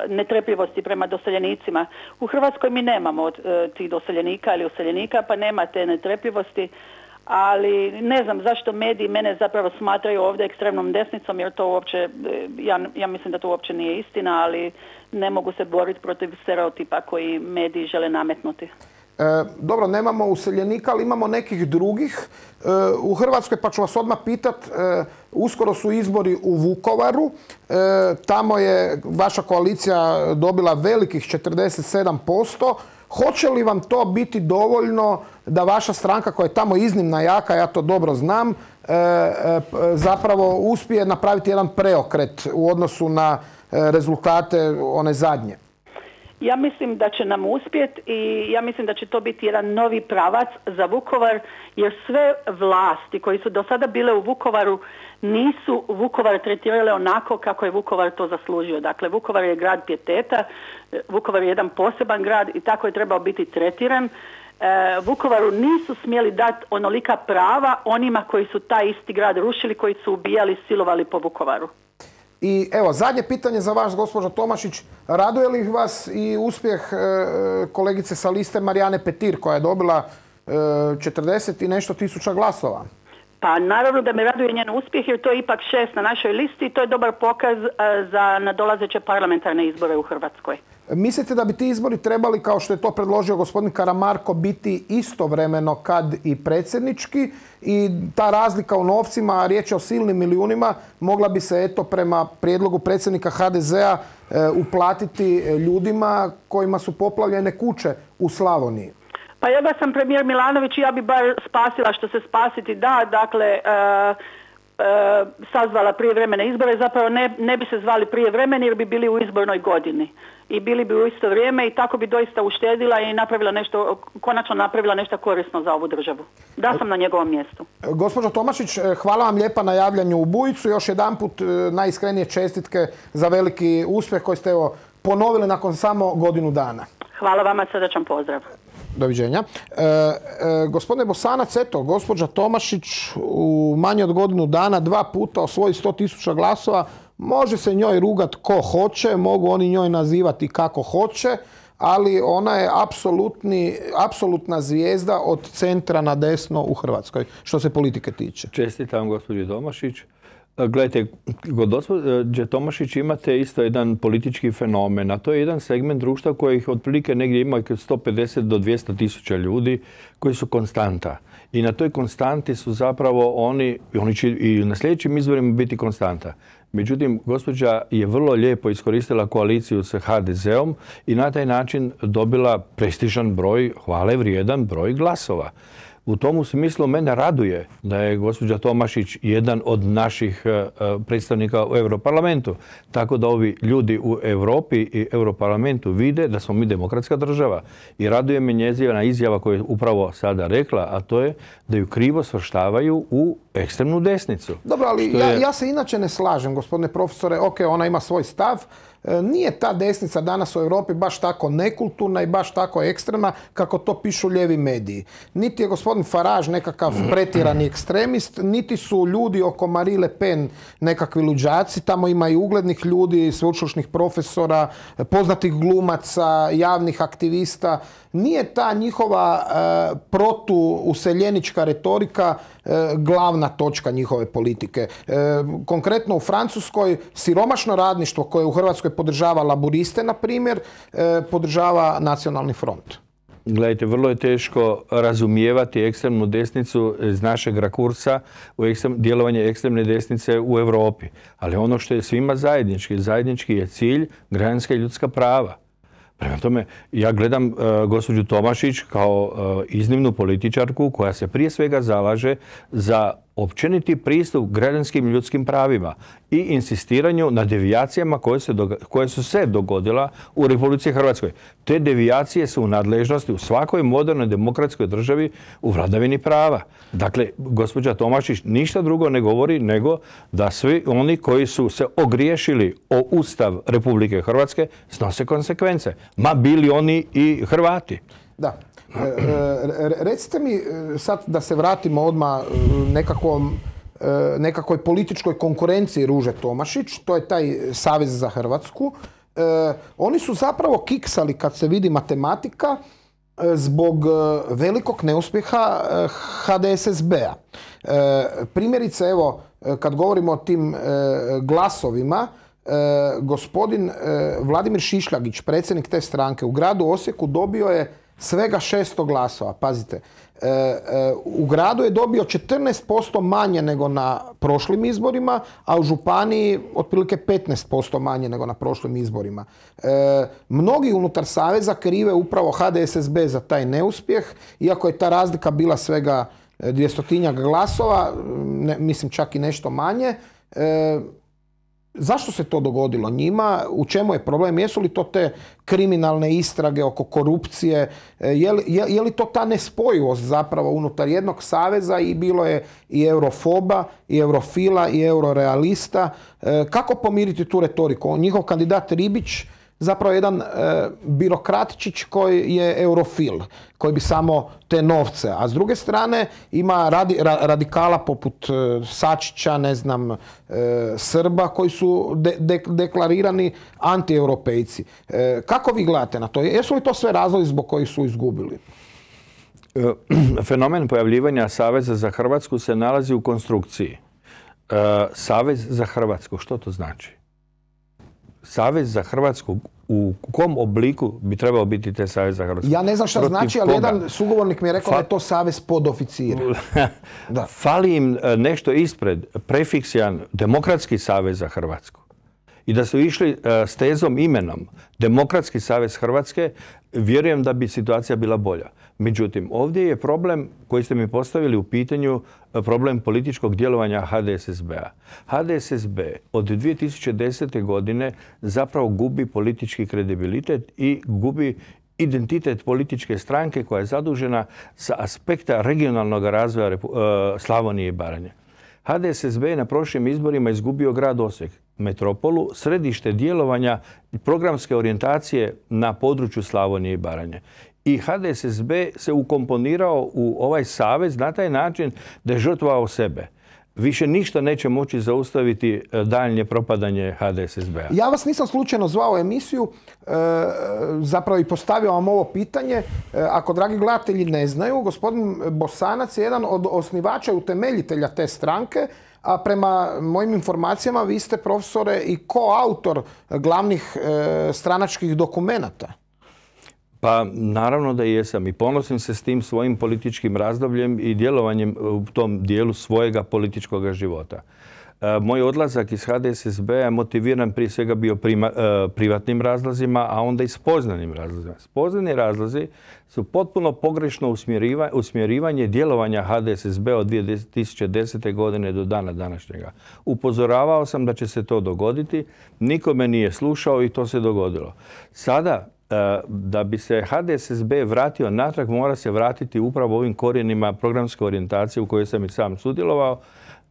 netrpljivosti prema doseljenicima. U Hrvatskoj mi nemamo tih doseljenika ili useljenika, pa nema te netrpljivosti, ali ne znam zašto mediji mene zapravo smatraju ovdje ekstremnom desnicom, jer to uopće, ja, ja mislim da to uopće nije istina, ali ne mogu se boriti protiv stereotipa koji mediji žele nametnuti. E, dobro, nemamo useljenika, ali imamo nekih drugih e, u Hrvatskoj, pa ću vas odmah pitat, e, uskoro su izbori u Vukovaru, e, tamo je vaša koalicija dobila velikih četrdeset sedam posto. Hoće li vam to biti dovoljno da vaša stranka, koja je tamo iznimno jaka, ja to dobro znam, e, e, zapravo uspije napraviti jedan preokret u odnosu na e, rezultate one zadnje? Ja mislim da će nam uspjeti i ja mislim da će to biti jedan novi pravac za Vukovar, jer sve vlasti koji su do sada bile u Vukovaru nisu Vukovar tretirale onako kako je Vukovar to zaslužio. Dakle, Vukovar je grad pijeteta, Vukovar je jedan poseban grad i tako je trebao biti tretiran. E, Vukovaru nisu smjeli dati onolika prava onima koji su taj isti grad rušili, koji su ubijali, silovali po Vukovaru. I evo, zadnje pitanje za vas, gospođo Tomašić. Raduje li vas i uspjeh e, kolegice sa liste Marijane Petir, koja je dobila e, četrdeset i nešto tisuća glasova? Pa naravno da me raduje njen uspjeh, jer to je ipak šest na našoj listi i to je dobar pokaz e, za nadolazeće parlamentarne izbore u Hrvatskoj. Mislite da bi ti izbori trebali, kao što je to predložio gospodin Karamarko, biti istovremeno kad i predsjednički i ta razlika u novcima, a riječ je o silnim milijunima, mogla bi se eto prema prijedlogu predsjednika ha de zea e, uplatiti ljudima kojima su poplavljene kuće u Slavoniji? Pa ja da sam premijer Milanović, ja bi bar spasila što se spasiti da, dakle, e, e, sazvala prijevremene izbore, zapravo ne, ne bi se zvali prijevremeni jer bi bili u izbornoj godini. I bili bi u isto vrijeme i tako bi doista uštedila i napravila nešto, konačno napravila nešto korisno za ovu državu. Da sam na njegovom mjestu. Gospođo Tomašić, hvala vam lijepa na javljanju u Bujicu. Još jedanput najiskrenije čestitke za veliki uspjeh koji ste evo ponovili nakon samo godinu dana. Hvala vama, srdačan pozdrav. Doviđenja. E, e, gospodine Bosanac, eto, gospođa Tomašić u manje od godinu dana dva puta osvoji sto tisuća glasova. Može se njoj rugat ko hoće, mogu oni njoj nazivati kako hoće, ali ona je apsolutni, apsolutna zvijezda od centra na desno u Hrvatskoj, što se politike tiče. Čestitam gospođi Tomašić. Gledajte, kod gospođe Tomašić imate isto jedan politički fenomen, a to je jedan segment društva kojih otprilike negdje ima sto pedeset do dvjesto tisuća ljudi koji su konstanta. I na toj konstanti su zapravo oni, oni će i na sljedećim izborima biti konstanta. Međutim, gospođa je vrlo lijepo iskoristila koaliciju sa ha de zeom i na taj način dobila prestižan broj, hvale vrijedan broj glasova. U tomu smislu mene raduje da je gospođa Tomašić jedan od naših predstavnika u Europarlamentu. Tako da ovi ljudi u Europi i Europarlamentu vide da smo mi demokratska država. I raduje me njezina izjava koju je upravo sada rekla, a to je da ju krivo svrštavaju u ekstremnu desnicu. Dobro, ali je... ja, ja se inače ne slažem, gospodine profesore. Ok, ona ima svoj stav. Nije ta desnica danas u Europi baš tako nekulturna i baš tako ekstremna kako to pišu lijevi mediji. Niti je gospodin Farage nekakav pretjerani ekstremist, niti su ljudi oko Marie Le Pen nekakvi luđaci. Tamo ima i uglednih ljudi, sveučilišnih profesora, poznatih glumaca, javnih aktivista. Nije ta njihova e, protuuseljenička retorika e, glavna točka njihove politike. E, konkretno u Francuskoj siromašno radništvo koje u Hrvatskoj podržava laburiste, na primjer, e, podržava Nacionalni front. Gledajte, vrlo je teško razumijevati ekstremnu desnicu iz našeg rakursa u ekstrem, djelovanje ekstremne desnice u Europi. Ali ono što je svima zajednički, zajednički je cilj građanska i ljudska prava. Prema tome, ja gledam uh, gospođu Tomašić kao uh, iznimnu političarku koja se prije svega zalaže za općeniti pristup građanskim ljudskim pravima i insistiranju na devijacijama koje, se doga- koje su se dogodila u Republici Hrvatskoj. Te devijacije su u nadležnosti u svakoj modernoj demokratskoj državi u vladavini prava. Dakle, gospođa Tomašić ništa drugo ne govori nego da svi oni koji su se ogriješili o Ustav Republike Hrvatske snose konsekvence, ma bili oni i Hrvati. Da. E, e, recite mi sad da se vratimo odmah nekakvom, e, nekakvoj političkoj konkurenciji Ruže Tomašić, to je taj Savez za Hrvatsku. E, oni su zapravo kiksali, kad se vidi matematika, e, zbog velikog neuspjeha H D S S B-a. E, primjerice, evo, kad govorimo o tim e, glasovima, e, gospodin e, Vladimir Šišljagić, predsjednik te stranke, u gradu Osijeku dobio je svega šesto glasova, pazite. E, e, u gradu je dobio četrnaest posto manje nego na prošlim izborima, a u županiji otprilike petnaest posto manje nego na prošlim izborima. E, mnogi unutar Saveza krive upravo H D S S B za taj neuspjeh, iako je ta razlika bila svega dvjestotinjak glasova, ne, mislim čak i nešto manje. E, Zašto se to dogodilo njima? U čemu je problem? Jesu li to te kriminalne istrage oko korupcije? Je li, je, je li to ta nespojivost zapravo unutar jednog saveza i bilo je i eurofoba, i eurofila, i eurorealista? Kako pomiriti tu retoriku? Njihov kandidat Ribić zapravo jedan e, birokratčić koji je eurofil, koji bi samo te novce. A s druge strane ima radi, ra, radikala poput e, Sačića, ne znam, e, Srba koji su de, de, deklarirani antieuropejci. E, kako vi gledate na to? Jesu li to sve razlozi zbog kojih su izgubili? Fenomen pojavljivanja Saveza za Hrvatsku se nalazi u konstrukciji. E, Savez za Hrvatsku, što to znači? Savez za Hrvatsku, u kom obliku bi trebao biti te Savez za Hrvatsku? Ja ne znam šta Protiv znači, ali koga? jedan sugovornik mi je rekao Fa... da je to Savez podoficira. Da. Fali im nešto ispred, prefiksijan Demokratski savez za Hrvatsku. I da su išli s tezom imenom Demokratski savez Hrvatske, vjerujem da bi situacija bila bolja. Međutim, ovdje je problem koji ste mi postavili u pitanju, problem političkog djelovanja H D S S B-a. H D S S B od dvije tisuće desete. godine zapravo gubi politički kredibilitet i gubi identitet političke stranke koja je zadužena sa aspekta regionalnog razvoja Slavonije i Baranje. H D S S B je na prošlim izborima izgubio grad Osijek, metropolu, središte djelovanja i programske orijentacije na području Slavonije i Baranje. I H D S S B se ukomponirao u ovaj savez na taj način da je žrtvovao sebe. Više ništa neće moći zaustaviti daljnje propadanje H D S S B-a. Ja vas nisam slučajno zvao u emisiju, e, zapravo i postavio vam ovo pitanje. E, ako, dragi gledatelji, ne znaju, gospodin Bosanac je jedan od osnivača i utemeljitelja te stranke, a prema mojim informacijama vi ste, profesore, i koautor glavnih e, stranačkih dokumenata. Pa naravno da jesam i ponosim se s tim svojim političkim razdobljem i djelovanjem u tom dijelu svojega političkog života. E, moj odlazak iz H D S S B-a je motiviran prije svega bio prima, e, privatnim razlozima, a onda i spoznanim razlozima. Spoznani razlozi su potpuno pogrešno usmjeriva, usmjerivanje djelovanja H D S S B-a od dvije tisuće desete. godine do dana današnjega. Upozoravao sam da će se to dogoditi, niko me nije slušao i to se dogodilo. Sada, da bi se H D S S B vratio natrag, mora se vratiti upravo ovim korijenima programske orijentacije u kojoj sam i sam sudjelovao,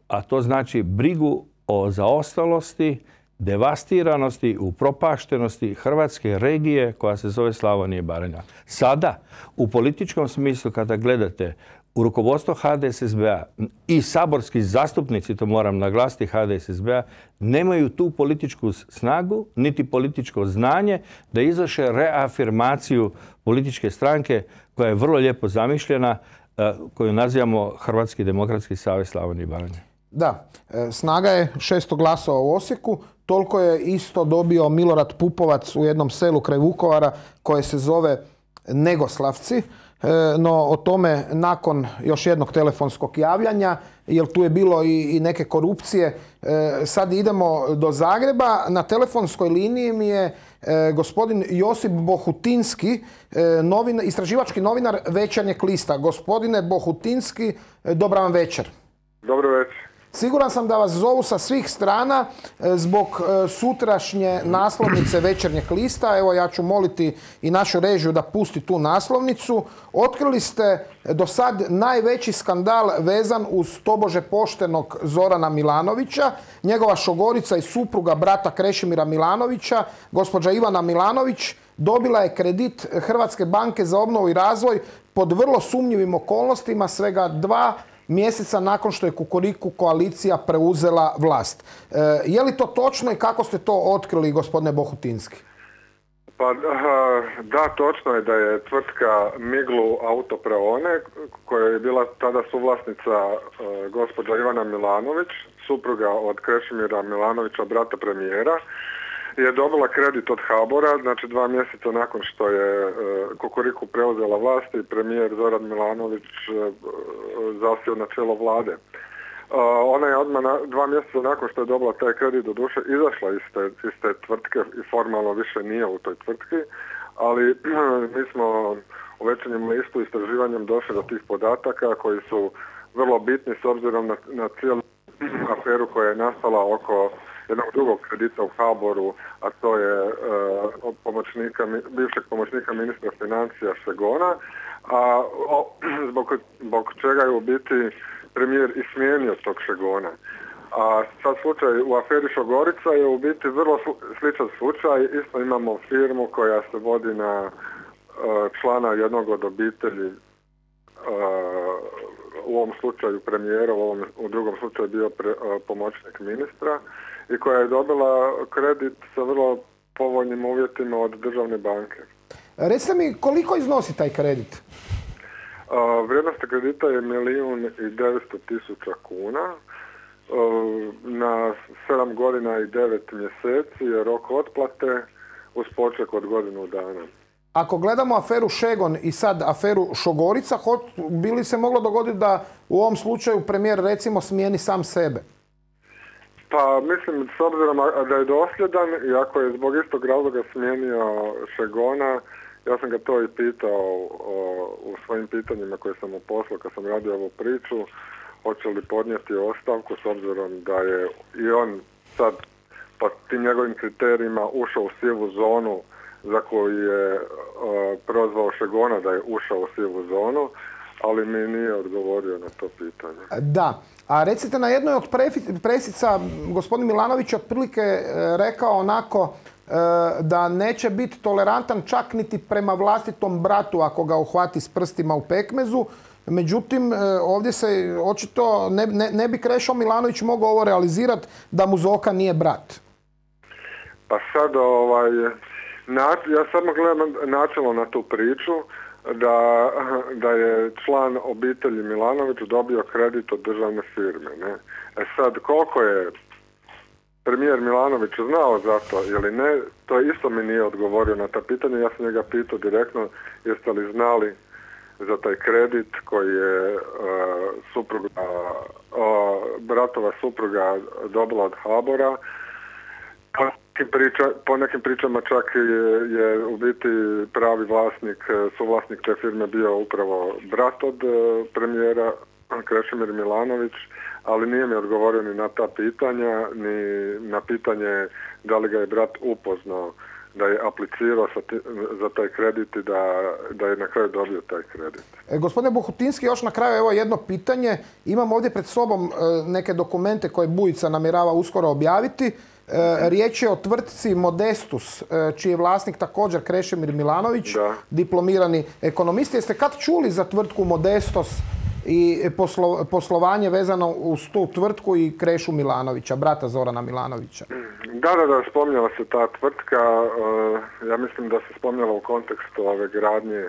a to znači brigu o zaostalosti, devastiranosti, upropaštenosti hrvatske regije koja se zove Slavonija i Baranja. Sada, u političkom smislu, kada gledate u rukovodstvo H D S S B-a i saborski zastupnici, to moram naglasiti, H D S S B-a, nemaju tu političku snagu, niti političko znanje da izvrše reafirmaciju političke stranke koja je vrlo lijepo zamišljena, koju nazivamo Hrvatski demokratski savez Slavonije i Baranje. Da, snaga je šesto glasova u Osijeku, toliko je isto dobio Milorad Pupovac u jednom selu kraj Vukovara koje se zove Negoslavci. No o tome nakon još jednog telefonskog javljanja, jer tu je bilo i, i neke korupcije. Sad idemo do Zagreba. Na telefonskoj liniji mi je gospodin Josip Bohutinski, novin, istraživački novinar Večernjeg lista. Gospodine Bohutinski, dobar vam večer. Dobro večer. Siguran sam da vas zovu sa svih strana zbog sutrašnje naslovnice Večernjeg lista. Evo, ja ću moliti i našu režiju da pusti tu naslovnicu. Otkrili ste do sad najveći skandal vezan uz tobože poštenog Zorana Milanovića. Njegova šogorica i supruga brata Krešimira Milanovića, gospođa Ivana Milanović, dobila je kredit Hrvatske banke za obnovu i razvoj pod vrlo sumnjivim okolnostima svega dva mjeseca nakon što je Kukuriku koalicija preuzela vlast. E, je li to točno i kako ste to otkrili, gospodine Bohutinski? Pa da, točno je da je tvrtka Miglu Autopraone, koja je bila tada suvlasnica uh, gospođa Ivana Milanović, supruga od Krešimira Milanovića, brata premijera, je dobila kredit od HBOR-a, znači dva mjeseca nakon što je uh, Kukuriku preuzela vlast i premijer Zoran Milanović uh, zasio na čelo vlade. Uh, ona je odmah na, dva mjeseca nakon što je dobila taj kredit, do duše izašla iz te, iz te tvrtke i formalno više nije u toj tvrtki, ali mi smo u Večernjem listu istraživanjem došli do tih podataka koji su vrlo bitni s obzirom na, na cijelu aferu koja je nastala oko jednog drugog kredita u HBOR-u, a to je uh, pomoćnika, bivšeg pomoćnika ministra financija Šegona, a o, zbog, zbog čega je u biti premijer i smijenio tog Šegona. A sad slučaj u aferi Šogorica je u biti vrlo sličan slučaj. Isto imamo firmu koja se vodi na uh, člana jednog od obitelji, uh, u ovom slučaju premijera, u, ovom, u drugom slučaju bio pre, uh, pomoćnik ministra, i koja je dobila kredit sa vrlo povoljnim uvjetima od državne banke. Recite mi, koliko iznosi taj kredit? Uh, vrijednost kredita je milijun i devetsto tisuća kuna. Uh, na sedam godina i devet mjeseci je rok otplate uz poček od godinu dana. Ako gledamo aferu Šegon i sad aferu Šogorica, bi li se moglo dogoditi da u ovom slučaju premijer recimo smijeni sam sebe? Pa mislim, s obzirom da je dosljedan i ako je zbog istog razloga smijenio Šegona, ja sam ga to i pitao o, u svojim pitanjima koje sam mu poslao kad sam radio ovu priču, hoće li podnijeti ostavku s obzirom da je i on sad po tim njegovim kriterijima ušao u sivu zonu za koju je o, prozvao Šegona da je ušao u sivu zonu, ali mi nije odgovorio na to pitanje. Da, a recite, na jednoj od presica gospodin Milanović je otprilike rekao onako da neće biti tolerantan čak niti prema vlastitom bratu ako ga uhvati s prstima u pekmezu. Međutim, ovdje se očito ne, ne, ne bi Krešo Milanović mogao ovo realizirati da mu Zoka nije brat. Pa sad, ovaj, na, ja samo gledam načelno na tu priču da, da je član obitelji Milanović dobio kredit od državne firme. Ne? E sad, koliko je premijer Milanović znao za to ili ne, to isto mi nije odgovorio na ta pitanja. Ja sam njega pitao direktno, jeste li znali za taj kredit koji je uh, supruga, uh, bratova supruga dobila od HBOR-a. Po nekim, priča, po nekim pričama čak je, je u biti pravi vlasnik, suvlasnik te firme bio upravo brat od uh, premijera Krešimir Milanović, ali nije mi odgovorio ni na ta pitanja, ni na pitanje da li ga je brat upoznao da je aplicirao za taj kredit i da, da je na kraju dobio taj kredit. E, gospodine Bohutinski, još na kraju evo jedno pitanje. Imam ovdje pred sobom e, neke dokumente koje Bujica namjerava uskoro objaviti. E, riječ je o tvrtci Modestus, e, čiji je vlasnik također Krešimir Milanović, da. Diplomirani ekonomist. Jeste kad čuli za tvrtku Modestus i poslo, poslovanje vezano uz tu tvrtku i Krešu Milanovića, brata Zorana Milanovića? Da, da, da, spominjala se ta tvrtka. Uh, ja mislim da se spominjala u kontekstu ove gradnje uh,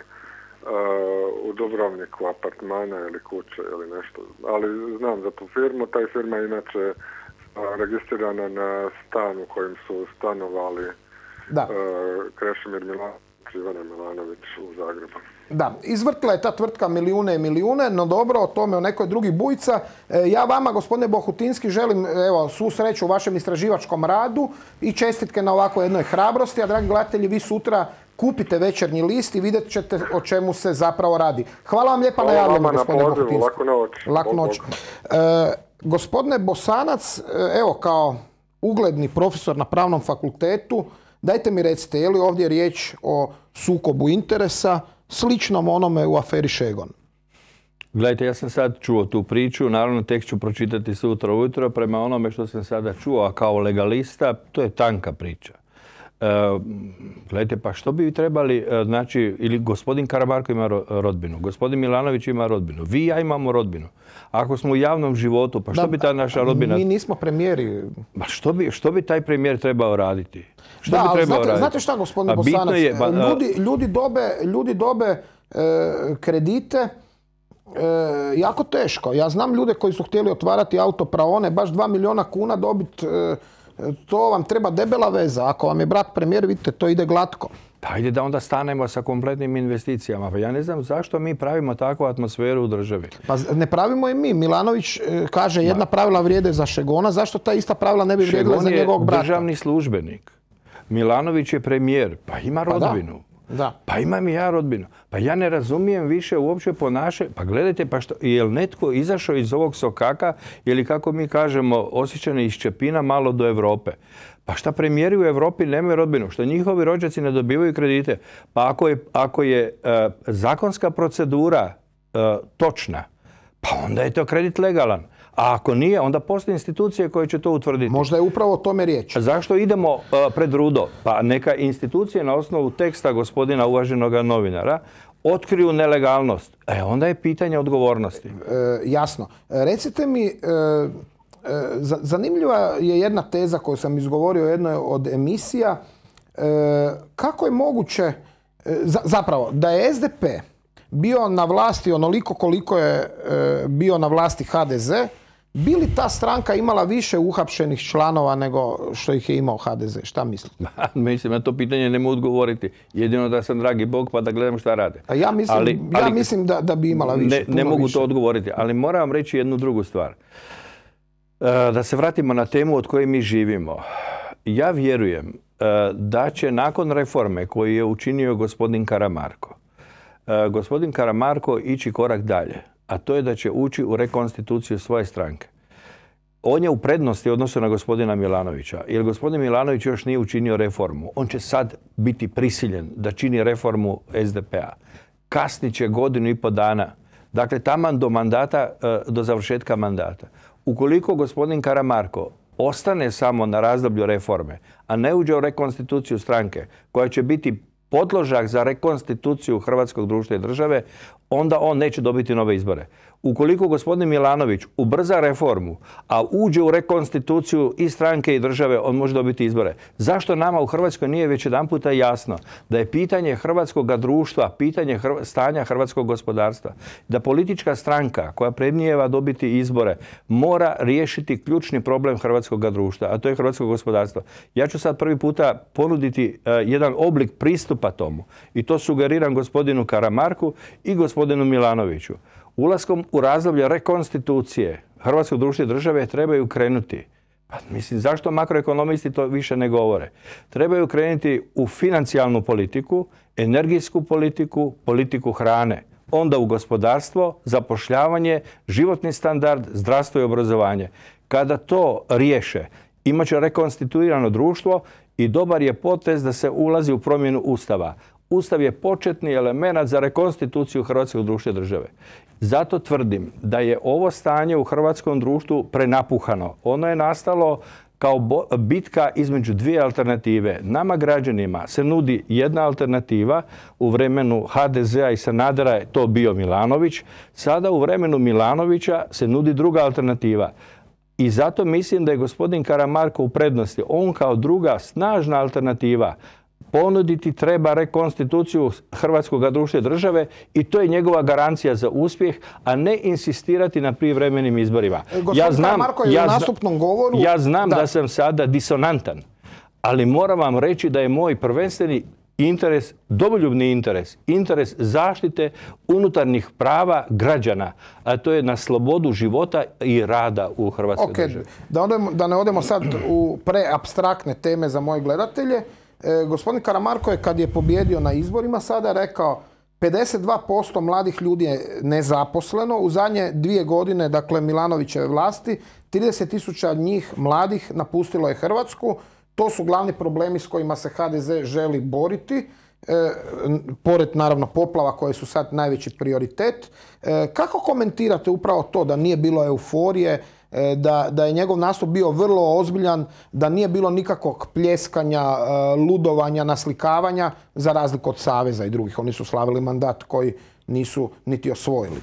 u Dubrovniku, apartmana ili kuće ili nešto. Ali znam za tu firmu. Ta firma je inače uh, registrirana na stan u kojem su stanovali uh, Krešimir Milanović i Ivana Milanović u Zagrebu. Da, izvrtila je ta tvrtka milijune i milijune, no dobro, o tome o nekoj drugi Bujica. E, ja vama, gospodine Bohutinski, želim evo, svu sreću u vašem istraživačkom radu i čestitke na ovako jednoj hrabrosti, a dragi gledatelji, vi sutra kupite Večernji list i vidjet ćete o čemu se zapravo radi. Hvala vam lijepa na javljanju, gospodine Bohotinski. Laku noć. Laku noć. E, gospodine Bosanac, evo kao ugledni profesor na Pravnom fakultetu, dajte mi recite, je li ovdje riječ o sukobu interesa sličnom onome u aferi Šegon? Gledajte, ja sam sad čuo tu priču, naravno tek ću pročitati sutra ujutro. Prema onome što sam sada čuo, a kao legalista, to je tanka priča. E, gledajte, pa što bi trebali, e, znači, ili gospodin Karamarko ima rodbinu, gospodin Milanović ima rodbinu, vi i ja imamo rodbinu. Ako smo u javnom životu, pa što da, bi ta naša rodbina... Mi nismo premijeri. Pa što bi, što bi taj premijer trebao raditi? Što da, bi trebao znate, raditi? znate šta, gospodin Bosanac, je, ba, ljudi, ljudi dobe, ljudi dobe e, kredite e, jako teško. Ja znam ljude koji su htjeli otvarati autopraone, baš dva milijuna kuna dobiti, e, to vam treba debela veza. Ako vam je brat premijer, vidite, to ide glatko. Pa ajde da onda stanemo sa kompletnim investicijama. Pa ja ne znam zašto mi pravimo takvu atmosferu u državi. Pa ne pravimo i mi. Milanović kaže jedna pravila vrijede za Šegona. Zašto ta ista pravila ne bi vrijedila za njegovog brata? Šegon je državni službenik. Milanović je premijer. Pa ima rodbinu. Pa, da. Pa imam i ja rodbinu. Pa ja ne razumijem više uopće ponašanje. Pa gledajte, pa što, je li netko izašao iz ovog sokaka ili kako mi kažemo osjećane iz Čepina malo do Europe? Pa šta premijeri u Europi nemaju rodbinu? Što njihovi rođaci ne dobivaju kredite? Pa ako je, ako je uh, zakonska procedura uh, točna, pa onda je to kredit legalan. A ako nije, onda postoje institucije koje će to utvrditi. Možda je upravo o tome riječ. Zašto idemo uh, pred rudo? Pa neka institucije na osnovu teksta gospodina uvaženog novinara otkriju nelegalnost. E, onda je pitanje odgovornosti. E, jasno. Recite mi... E... Zanimljiva je jedna teza koju sam izgovorio u jednoj od emisija. Kako je moguće, zapravo, da je S D P bio na vlasti onoliko koliko je bio na vlasti H D Z, bi li ta stranka imala više uhapšenih članova nego što ih je imao H D Z? Šta mislite? Mislim, na to pitanje ne mogu odgovoriti. Jedino da sam dragi Bog pa da gledam šta rade. A ja mislim, ali, ja ali, mislim da, da bi imala više. Ne, ne mogu više. to odgovoriti, ali moram vam reći jednu drugu stvar. Da se vratimo na temu od koje mi živimo. Ja vjerujem da će nakon reforme koju je učinio gospodin Karamarko, gospodin Karamarko ići korak dalje, a to je da će ući u rekonstituciju svoje stranke. On je u prednosti u odnosu na gospodina Milanovića, jer gospodin Milanović još nije učinio reformu. On će sad biti prisiljen da čini reformu S D P-a. Kasnit će godinu i po dana. Dakle, taman do mandata, do završetka mandata. Ukoliko gospodin Karamarko ostane samo na razdoblju reforme, a ne uđe u rekonstituciju stranke, koja će biti podložak za rekonstituciju hrvatskog društva i države, onda on neće dobiti nove izbore. Ukoliko gospodin Milanović ubrza reformu, a uđe u rekonstituciju i stranke i države, on može dobiti izbore. Zašto nama u Hrvatskoj nije već jedanputa jasno da je pitanje hrvatskog društva, pitanje hrv- stanja hrvatskog gospodarstva, da politička stranka koja prednijeva dobiti izbore mora riješiti ključni problem hrvatskog društva, a to je hrvatskog gospodarstva. Ja ću sad prvi puta ponuditi uh, jedan oblik pristupa tomu i to sugeriram gospodinu Karamarku i gospodinu Milanoviću. Ulaskom u razdoblje rekonstitucije hrvatskog društva i države trebaju krenuti. Pa, mislim, zašto makroekonomisti to više ne govore? Trebaju krenuti u financijalnu politiku, energijsku politiku, politiku hrane. Onda u gospodarstvo, zapošljavanje, životni standard, zdravstvo i obrazovanje. Kada to riješe, imat će rekonstituirano društvo i dobar je potez da se ulazi u promjenu Ustava. Ustav je početni element za rekonstituciju hrvatskog društva i države. Zato tvrdim da je ovo stanje u hrvatskom društvu prenapuhano. Ono je nastalo kao bitka između dvije alternative. Nama građanima se nudi jedna alternativa. U vremenu H D Z-a i Sanadera je to bio Milanović. Sada u vremenu Milanovića se nudi druga alternativa. I zato mislim da je gospodin Karamarko u prednosti. On kao druga snažna alternativa ponuditi treba rekonstituciju hrvatskog društva i države i to je njegova garancija za uspjeh, a ne insistirati na prijevremenim izborima. Gospodin ja znam, Karamarko je ja u nastupnom govoru... Ja znam da. da sam sada disonantan, ali moram vam reći da je moj prvenstveni interes, domoljubni interes, interes zaštite unutarnjih prava građana, a to je na slobodu života i rada u Hrvatskoj okay. državi. Da, odemo, da ne odemo sad u preapstraktne teme za moje gledatelje, E, gospodin Karamarko je kad je pobjedio na izborima sada rekao pedeset dva posto mladih ljudi je nezaposleno. U zadnje dvije godine, dakle Milanovićeve vlasti, trideset tisuća njih mladih napustilo je Hrvatsku. To su glavni problemi s kojima se ha de ze želi boriti. E, pored naravno poplava koje su sad najveći prioritet. E, kako komentirate upravo to da nije bilo euforije, e, da, da je njegov nastup bio vrlo ozbiljan, da nije bilo nikakvog pljeskanja, e, ludovanja, naslikavanja, za razliku od Saveza i drugih. Oni su slavili mandat koji nisu niti osvojili.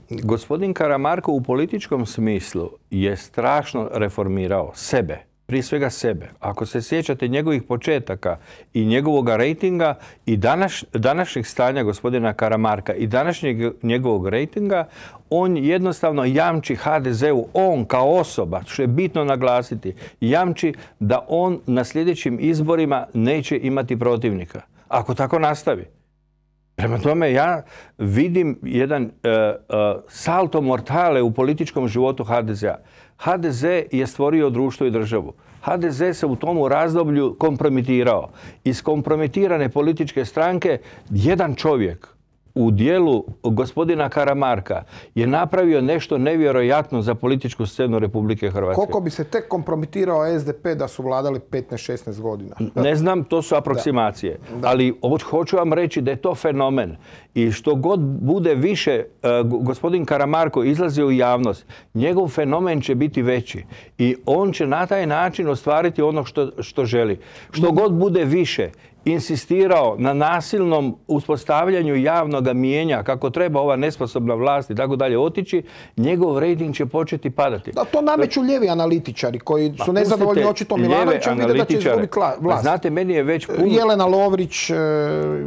Gospodin Karamarko u političkom smislu je strašno reformirao sebe. Prije svega sebe. Ako se sjećate njegovih početaka i njegovog rejtinga i današ, današnjeg stanja gospodina Karamarka i današnjeg njegovog rejtinga, on jednostavno jamči ha de zeu, on kao osoba, što je bitno naglasiti, jamči da on na sljedećim izborima neće imati protivnika. Ako tako nastavi. Prema tome ja vidim jedan uh, uh, salto mortale u političkom životu ha de zea. ha de ze je stvorio društvo i državu. ha de ze se u tomu razdoblju kompromitirao. Iz kompromitirane političke stranke jedan čovjek u dijelu gospodina Karamarka je napravio nešto nevjerojatno za političku scenu Republike Hrvatske. Koliko bi se tek kompromitirao es de pe da su vladali petnaest šesnaest godina? Ne znam, to su aproksimacije. Da. Da. Ali hoću vam reći da je to fenomen. I što god bude više uh, gospodin Karamarko izlazi u javnost, njegov fenomen će biti veći. I on će na taj način ostvariti ono što, što želi. Što god bude više insistirao na nasilnom uspostavljanju javnog mijenja kako treba ova nesposobna vlast i tako dalje otići, njegov rejting će početi padati. Da, to nameću lijevi analitičari koji su nezadovoljni očito Milanovićem, vide da će izgubiti vlast. Znate, meni je već puno... Jelena Lovrić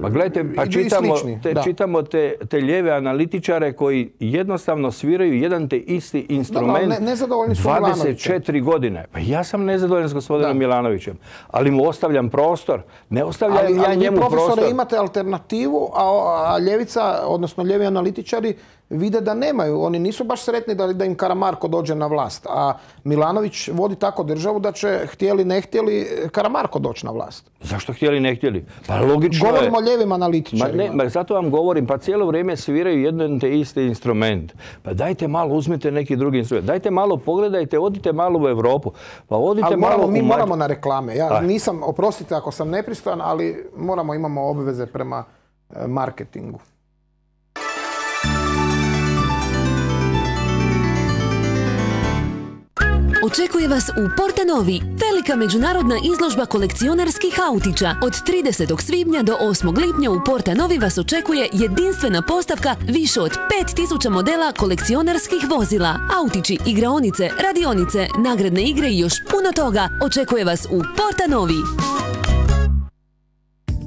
pa gledajte, pa i čitamo, slični. Te, čitamo te, te lijeve analitičare koji jednostavno sviraju jedan te isti instrument da, ne, nezadovoljni su dvadeset četiri godine. Pa ja sam nezadovoljan s gospodinom da. Milanovićem, ali mu ostavljam prostor. Ne ostavljam Ali, ja ali njemu vi, profesore, prostor. imate alternativu, a, a ljevica, odnosno lijevi analitičari, vide da nemaju. Oni nisu baš sretni da, da im Karamarko dođe na vlast. A Milanović vodi tako državu da će, htjeli ne htjeli, Karamarko doći na vlast. Zašto htjeli ne htjeli? Pa logično je. Govorimo o lijevim analitičarima. Ma ne, ma zato vam govorim, pa cijelo vrijeme sviraju jedan te isti instrument. Pa dajte malo, uzmite neki drugi instrument. Dajte malo, pogledajte, odite malo u Europu. Pa odite ali malo moramo, mi u moramo na reklame. Ja Aj. nisam, oprostite ako sam nepristojan, ali moramo, imamo obveze prema e, marketingu. Očekuje vas u Porta Novi velika međunarodna izložba kolekcionarskih autića. Od tridesetog svibnja do osmog lipnja u Porta Novi vas očekuje jedinstvena postavka više od pet tisuća modela kolekcionarskih vozila. Autići, igraonice, radionice, nagradne igre i još puno toga očekuje vas u Porta Novi.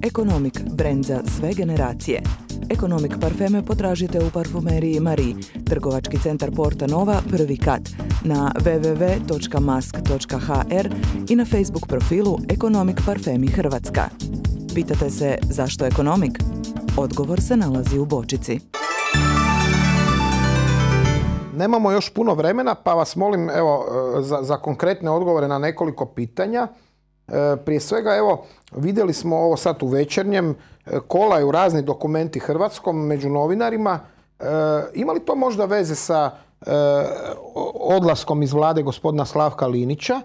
Ekonomik, brend za sve generacije. Ekonomik parfeme potražite u parfumeriji Marie, trgovački centar Porta Nova, prvi kat, na w w w točka mask točka h r i na Facebook profilu Ekonomik parfemi Hrvatska. Pitate se zašto Ekonomik? Odgovor se nalazi u bočici. Nemamo još puno vremena, pa vas molim evo, za, za konkretne odgovore na nekoliko pitanja. E, prije svega, evo, vidjeli smo ovo sad u Večernjem, e, kolaju razni dokumenti hrvatskom među novinarima. E, ima li to možda veze sa e, odlaskom iz vlade gospodina Slavka Linića,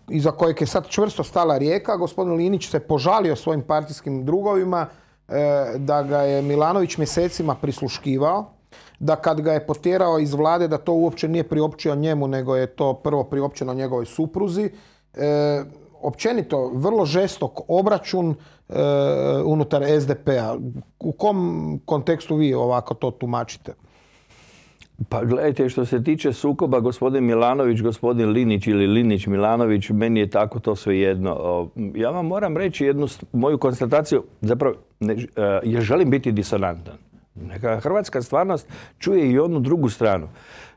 iza kojeg je sad čvrsto stala Rijeka? Gospodin Linić se požalio svojim partijskim drugovima e, da ga je Milanović mjesecima prisluškivao, da kad ga je potjerao iz vlade da to uopće nije priopćio njemu, nego je to prvo priopćeno njegovoj supruzi. E, općenito, vrlo žestok obračun e, unutar es de pe-a. U kom kontekstu vi ovako to tumačite? Pa gledajte, što se tiče sukoba gospodin Milanović, gospodin Linić ili Linić Milanović, meni je tako to sve jedno. Ja vam moram reći jednu moju konstataciju, zapravo ne, ja želim biti disonantan. Neka hrvatska stvarnost čuje i onu drugu stranu.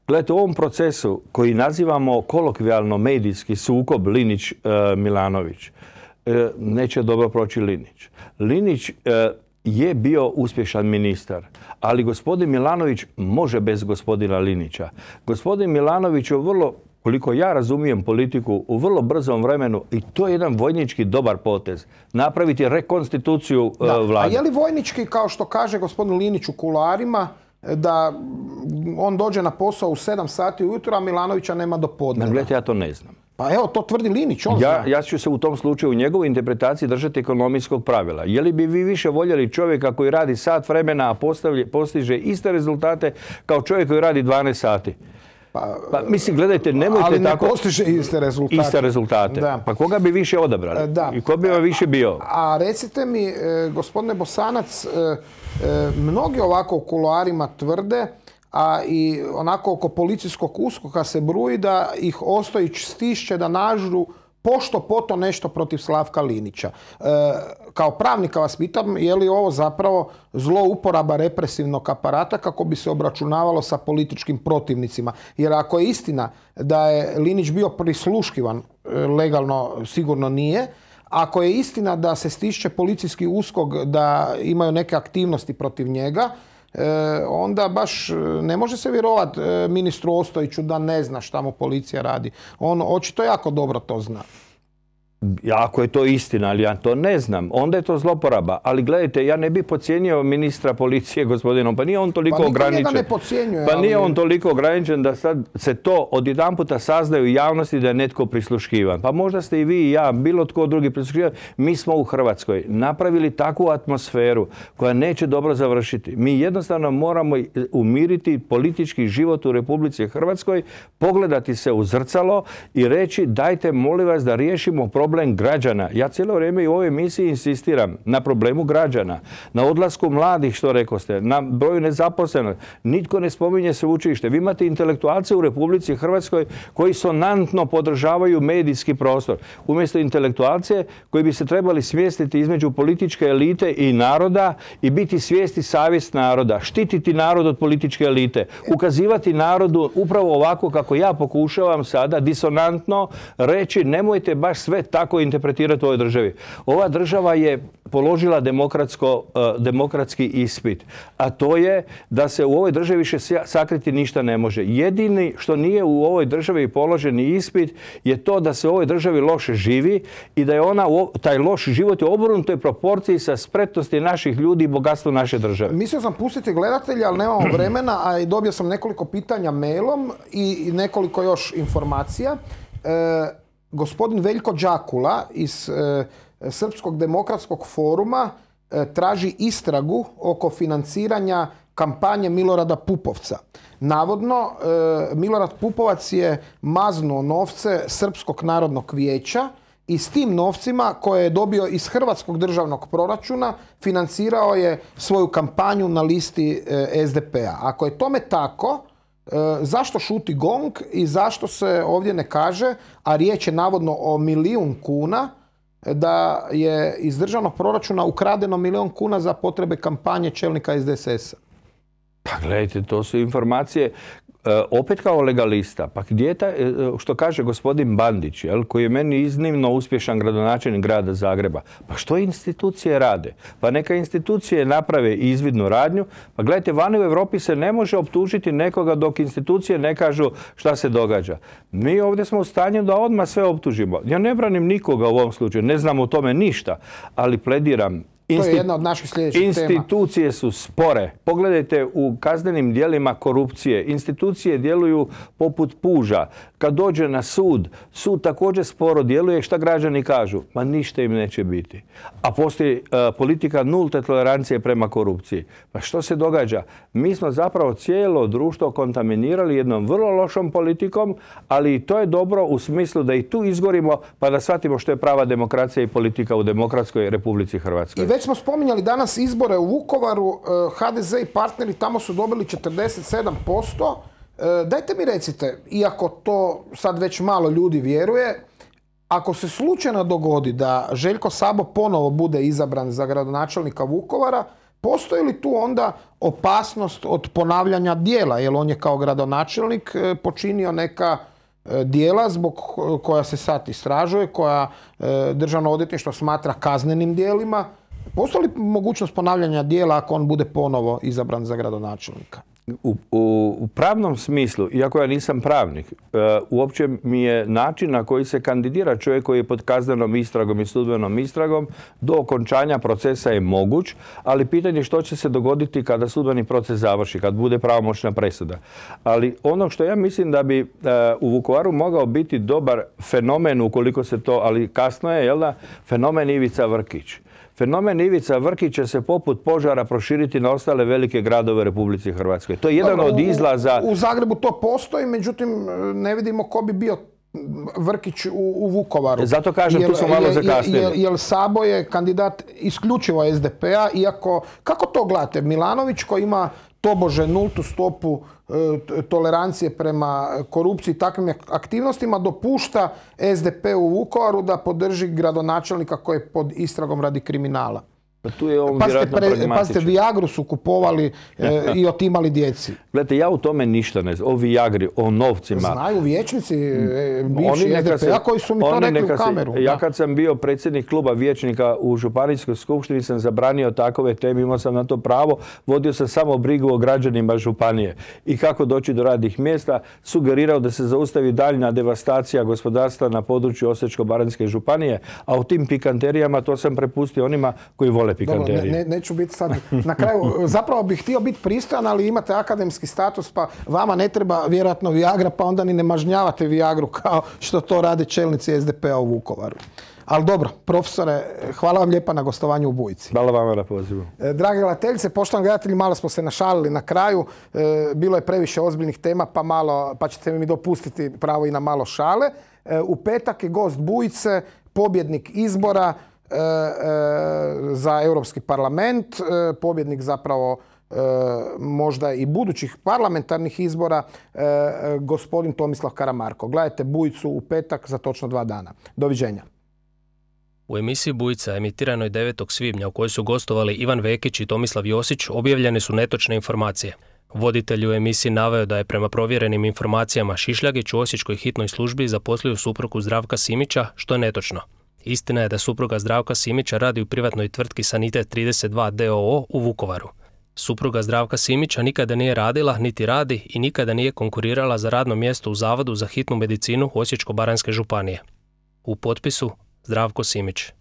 Gledajte, u ovom procesu koji nazivamo kolokvijalno medijski sukob Linić-Milanović, neće dobro proći Linić. Linić je bio uspješan ministar, ali gospodin Milanović može bez gospodina Linića. Gospodin Milanović je vrlo koliko ja razumijem politiku, u vrlo brzom vremenu, i to je jedan vojnički dobar potez, napraviti rekonstituciju da. vlade. A je li vojnički, kao što kaže gospodin Linić u kuloarima, da on dođe na posao u sedam sati ujutro, a Milanovića nema do podneva? Gledajte, ja to ne znam. Pa evo, to tvrdi Linić, on ja, zna. ja ću se u tom slučaju u njegovoj interpretaciji držati ekonomijskog pravila. Je li bi vi više voljeli čovjeka koji radi sat vremena, a postavlje, postiže iste rezultate kao čovjek koji radi dvanaest sati? Pa, pa mislim, gledajte, nemojte ali ne tako... postiže iste rezultate. Iste rezultate. Da. Pa koga bi više odabrali? Da. I ko bi vam više bio? A recite mi, e, gospodine Bosanac, e, e, mnogi ovako u kuloarima tvrde, a i onako oko policijskog uskoka se bruji da ih Ostojić stišće da nažu pošto poto nešto protiv Slavka Linića. E, kao pravnika vas pitam, je li ovo zapravo zlouporaba represivnog aparata kako bi se obračunavalo sa političkim protivnicima? Jer ako je istina da je Linić bio prisluškivan, legalno sigurno nije, ako je istina da se stišće policijski uskok da imaju neke aktivnosti protiv njega, E, onda baš ne može se vjerovati e, ministru Ostojiću da ne zna šta mu policija radi. On očito jako dobro to zna. Ako je to istina, ali ja to ne znam, onda je to zloporaba. Ali gledajte, ja ne bih podcijenio ministra policije, gospodinom, pa nije on toliko pa ograničen. Pa ne podcjenjuje. Pa nije ali... on toliko ograničen da sad se to odjedanputa saznaju u javnosti da je netko prisluškivan. Pa možda ste i vi i ja, bilo tko drugi prisluškivan. Mi smo u Hrvatskoj napravili takvu atmosferu koja neće dobro završiti. Mi jednostavno moramo umiriti politički život u Republici Hrvatskoj, pogledati se u zrcalo i reći dajte molim vas da riješimo problem problem građana. Ja cijelo vrijeme i u ovoj emisiji insistiram na problemu građana, na odlasku mladih, što rekoste, na broju nezaposlenih. Nitko ne spominje sveučilište. Vi imate intelektualce u Republici Hrvatskoj koji sonantno podržavaju medijski prostor. Umjesto intelektualce koji bi se trebali smjestiti između političke elite i naroda i biti svijesti savjest naroda, štititi narod od političke elite, ukazivati narodu upravo ovako kako ja pokušavam sada disonantno reći nemojte baš sve tako interpretirati u ovoj državi. Ova država je položila demokratsko, uh, demokratski ispit, a to je da se u ovoj državi više sakriti ništa ne može. Jedini što nije u ovoj državi položeni ispit je to da se u ovoj državi loše živi i da je ona, taj loš život je u obrnutoj proporciji sa spretnosti naših ljudi i bogatstvo naše države. Mislio sam pustiti gledatelja, ali nemamo vremena, a i dobio sam nekoliko pitanja mailom i nekoliko još informacija. E, Gospodin Veljko Đakula iz e, Srpskog demokratskog foruma e, traži istragu oko financiranja kampanje Milorada Pupovca. Navodno, e, Milorad Pupovac je maznuo novce Srpskog narodnog vijeća i s tim novcima koje je dobio iz Hrvatskog državnog proračuna financirao je svoju kampanju na listi e, S D P-a. Ako je tome tako, zašto šuti GONG i zašto se ovdje ne kaže, a riječ je navodno o milijun kuna, da je iz državnog proračuna ukradeno milijun kuna za potrebe kampanje čelnika S D S S-a? Pa gledajte, to su informacije opet kao legalista. Pa gdje je ta, što kaže gospodin Bandić, jel, koji je meni iznimno uspješan gradonačelnik grada Zagreba. Pa što institucije rade? Pa neka institucije naprave izvidnu radnju. Pa gledajte, vani u Europi se ne može optužiti nekoga dok institucije ne kažu šta se događa. Mi ovdje smo u stanju da odmah sve optužimo. Ja ne branim nikoga u ovom slučaju, ne znam o tome ništa, ali plediram. To je jedna od naših sljedećih Institucije tema. Su spore. Pogledajte u kaznenim djelima korupcije. Institucije djeluju poput puža. Kad dođe na sud, sud također sporo djeluje. Šta građani kažu? Ma ništa im neće biti. A postoji uh, politika nulte tolerancije prema korupciji. Pa što se događa? Mi smo zapravo cijelo društvo kontaminirali jednom vrlo lošom politikom, ali to je dobro u smislu da i tu izgorimo pa da shvatimo što je prava demokracija i politika u demokratskoj Republici Hrvatskoj. I već smo spominjali danas izbore u Vukovaru, H D Z i partneri tamo su dobili četrdeset sedam posto. Dajte mi recite, iako to sad već malo ljudi vjeruje, ako se slučajno dogodi da Željko Sabo ponovo bude izabran za gradonačelnika Vukovara, postoji li tu onda opasnost od ponavljanja djela? Jer on je kao gradonačelnik počinio neka djela zbog koja se sad istražuje, koja Državno odvjetništvo smatra kaznenim djelima. Postoji li mogućnost ponavljanja djela ako on bude ponovo izabran za gradonačelnika? U, u, u pravnom smislu, iako ja nisam pravnik, uh, uopće mi je način na koji se kandidira čovjek koji je pod kaznenom istragom i sudbenom istragom do okončanja procesa je moguć, ali pitanje što će se dogoditi kada sudbeni proces završi, kad bude pravomoćna presuda. Ali ono što ja mislim da bi uh, u Vukovaru mogao biti dobar fenomen, ukoliko se to, ali kasno je, jel da, fenomen Ivica Vrkić. Fenomen Ivica Vrkić će se poput požara proširiti na ostale velike gradove Republike Hrvatske. To je jedan od izlaza... U, u Zagrebu to postoji, međutim ne vidimo ko bi bio Vrkić u, u Vukovaru. Zato kažem, tu smo malo zakasnili. Jer Sabo je kandidat isključivo es de pe a, iako... Kako to gledate? Milanović koji ima tobože nultu stopu e, tolerancije prema korupciji i takvim aktivnostima dopušta es de pe u Vukovaru da podrži gradonačelnika koji je pod istragom radi kriminala. Pa tu je on pazite, vjerojatno pre, pragmatičan. pazite, Viagru su kupovali e, i otimali djeci. Gledajte, ja u tome ništa ne znam. O Viagri, o novcima. Znaju vijećnici, e, bivši es de pe a koji su mi to rekli u kameru. Se, ja kad sam bio predsjednik kluba vijećnika u Županijskoj skupštini sam zabranio takove teme, imao sam na to pravo, vodio sam samo brigu o građanima županije i kako doći do radnih mjesta, sugerirao da se zaustavi daljnja devastacija gospodarstva na području Osječko-baranjske županije, a u tim pikanterijama to sam prepustio onima koji vole pikanterije. Dobro, ne, ne, neću biti sad na kraju. Zapravo bih htio biti pristojan, ali imate akademski status, pa vama ne treba vjerojatno Viagra, pa onda ni ne mažnjavate Viagru kao što to rade čelnici es de pe a u Vukovaru. Ali dobro, profesore, hvala vam lijepa na gostovanju u Bujici. Hvala vama na pozivu. Drage gledateljice, poštovani gledatelji, malo smo se našalili na kraju. Bilo je previše ozbiljnih tema, pa, malo, pa ćete mi dopustiti pravo i na malo šale. U petak je gost Bujice, pobjednik izbora za Europski parlament, pobjednik zapravo možda i budućih parlamentarnih izbora, gospodin Tomislav Karamarko. Gledajte Bujicu u petak za točno dva dana. Doviđenja. U emisiji Bujica, emitiranoj devetog svibnja, u kojoj su gostovali Ivan Vekić i Tomislav Josić, objavljene su netočne informacije. Voditelj u emisiji naveo da je prema provjerenim informacijama Šišljagić u osječkoj hitnoj službi zaposlio suprugu Zdravka Simića, što je netočno. Istina je da supruga Zdravka Simića radi u privatnoj tvrtki Sanitet trideset dva d o o u Vukovaru. Supruga Zdravka Simića nikada nije radila, niti radi i nikada nije konkurirala za radno mjesto u Zavodu za hitnu medicinu Osječko-baranjske županije. U potpisu Zdravko Simić.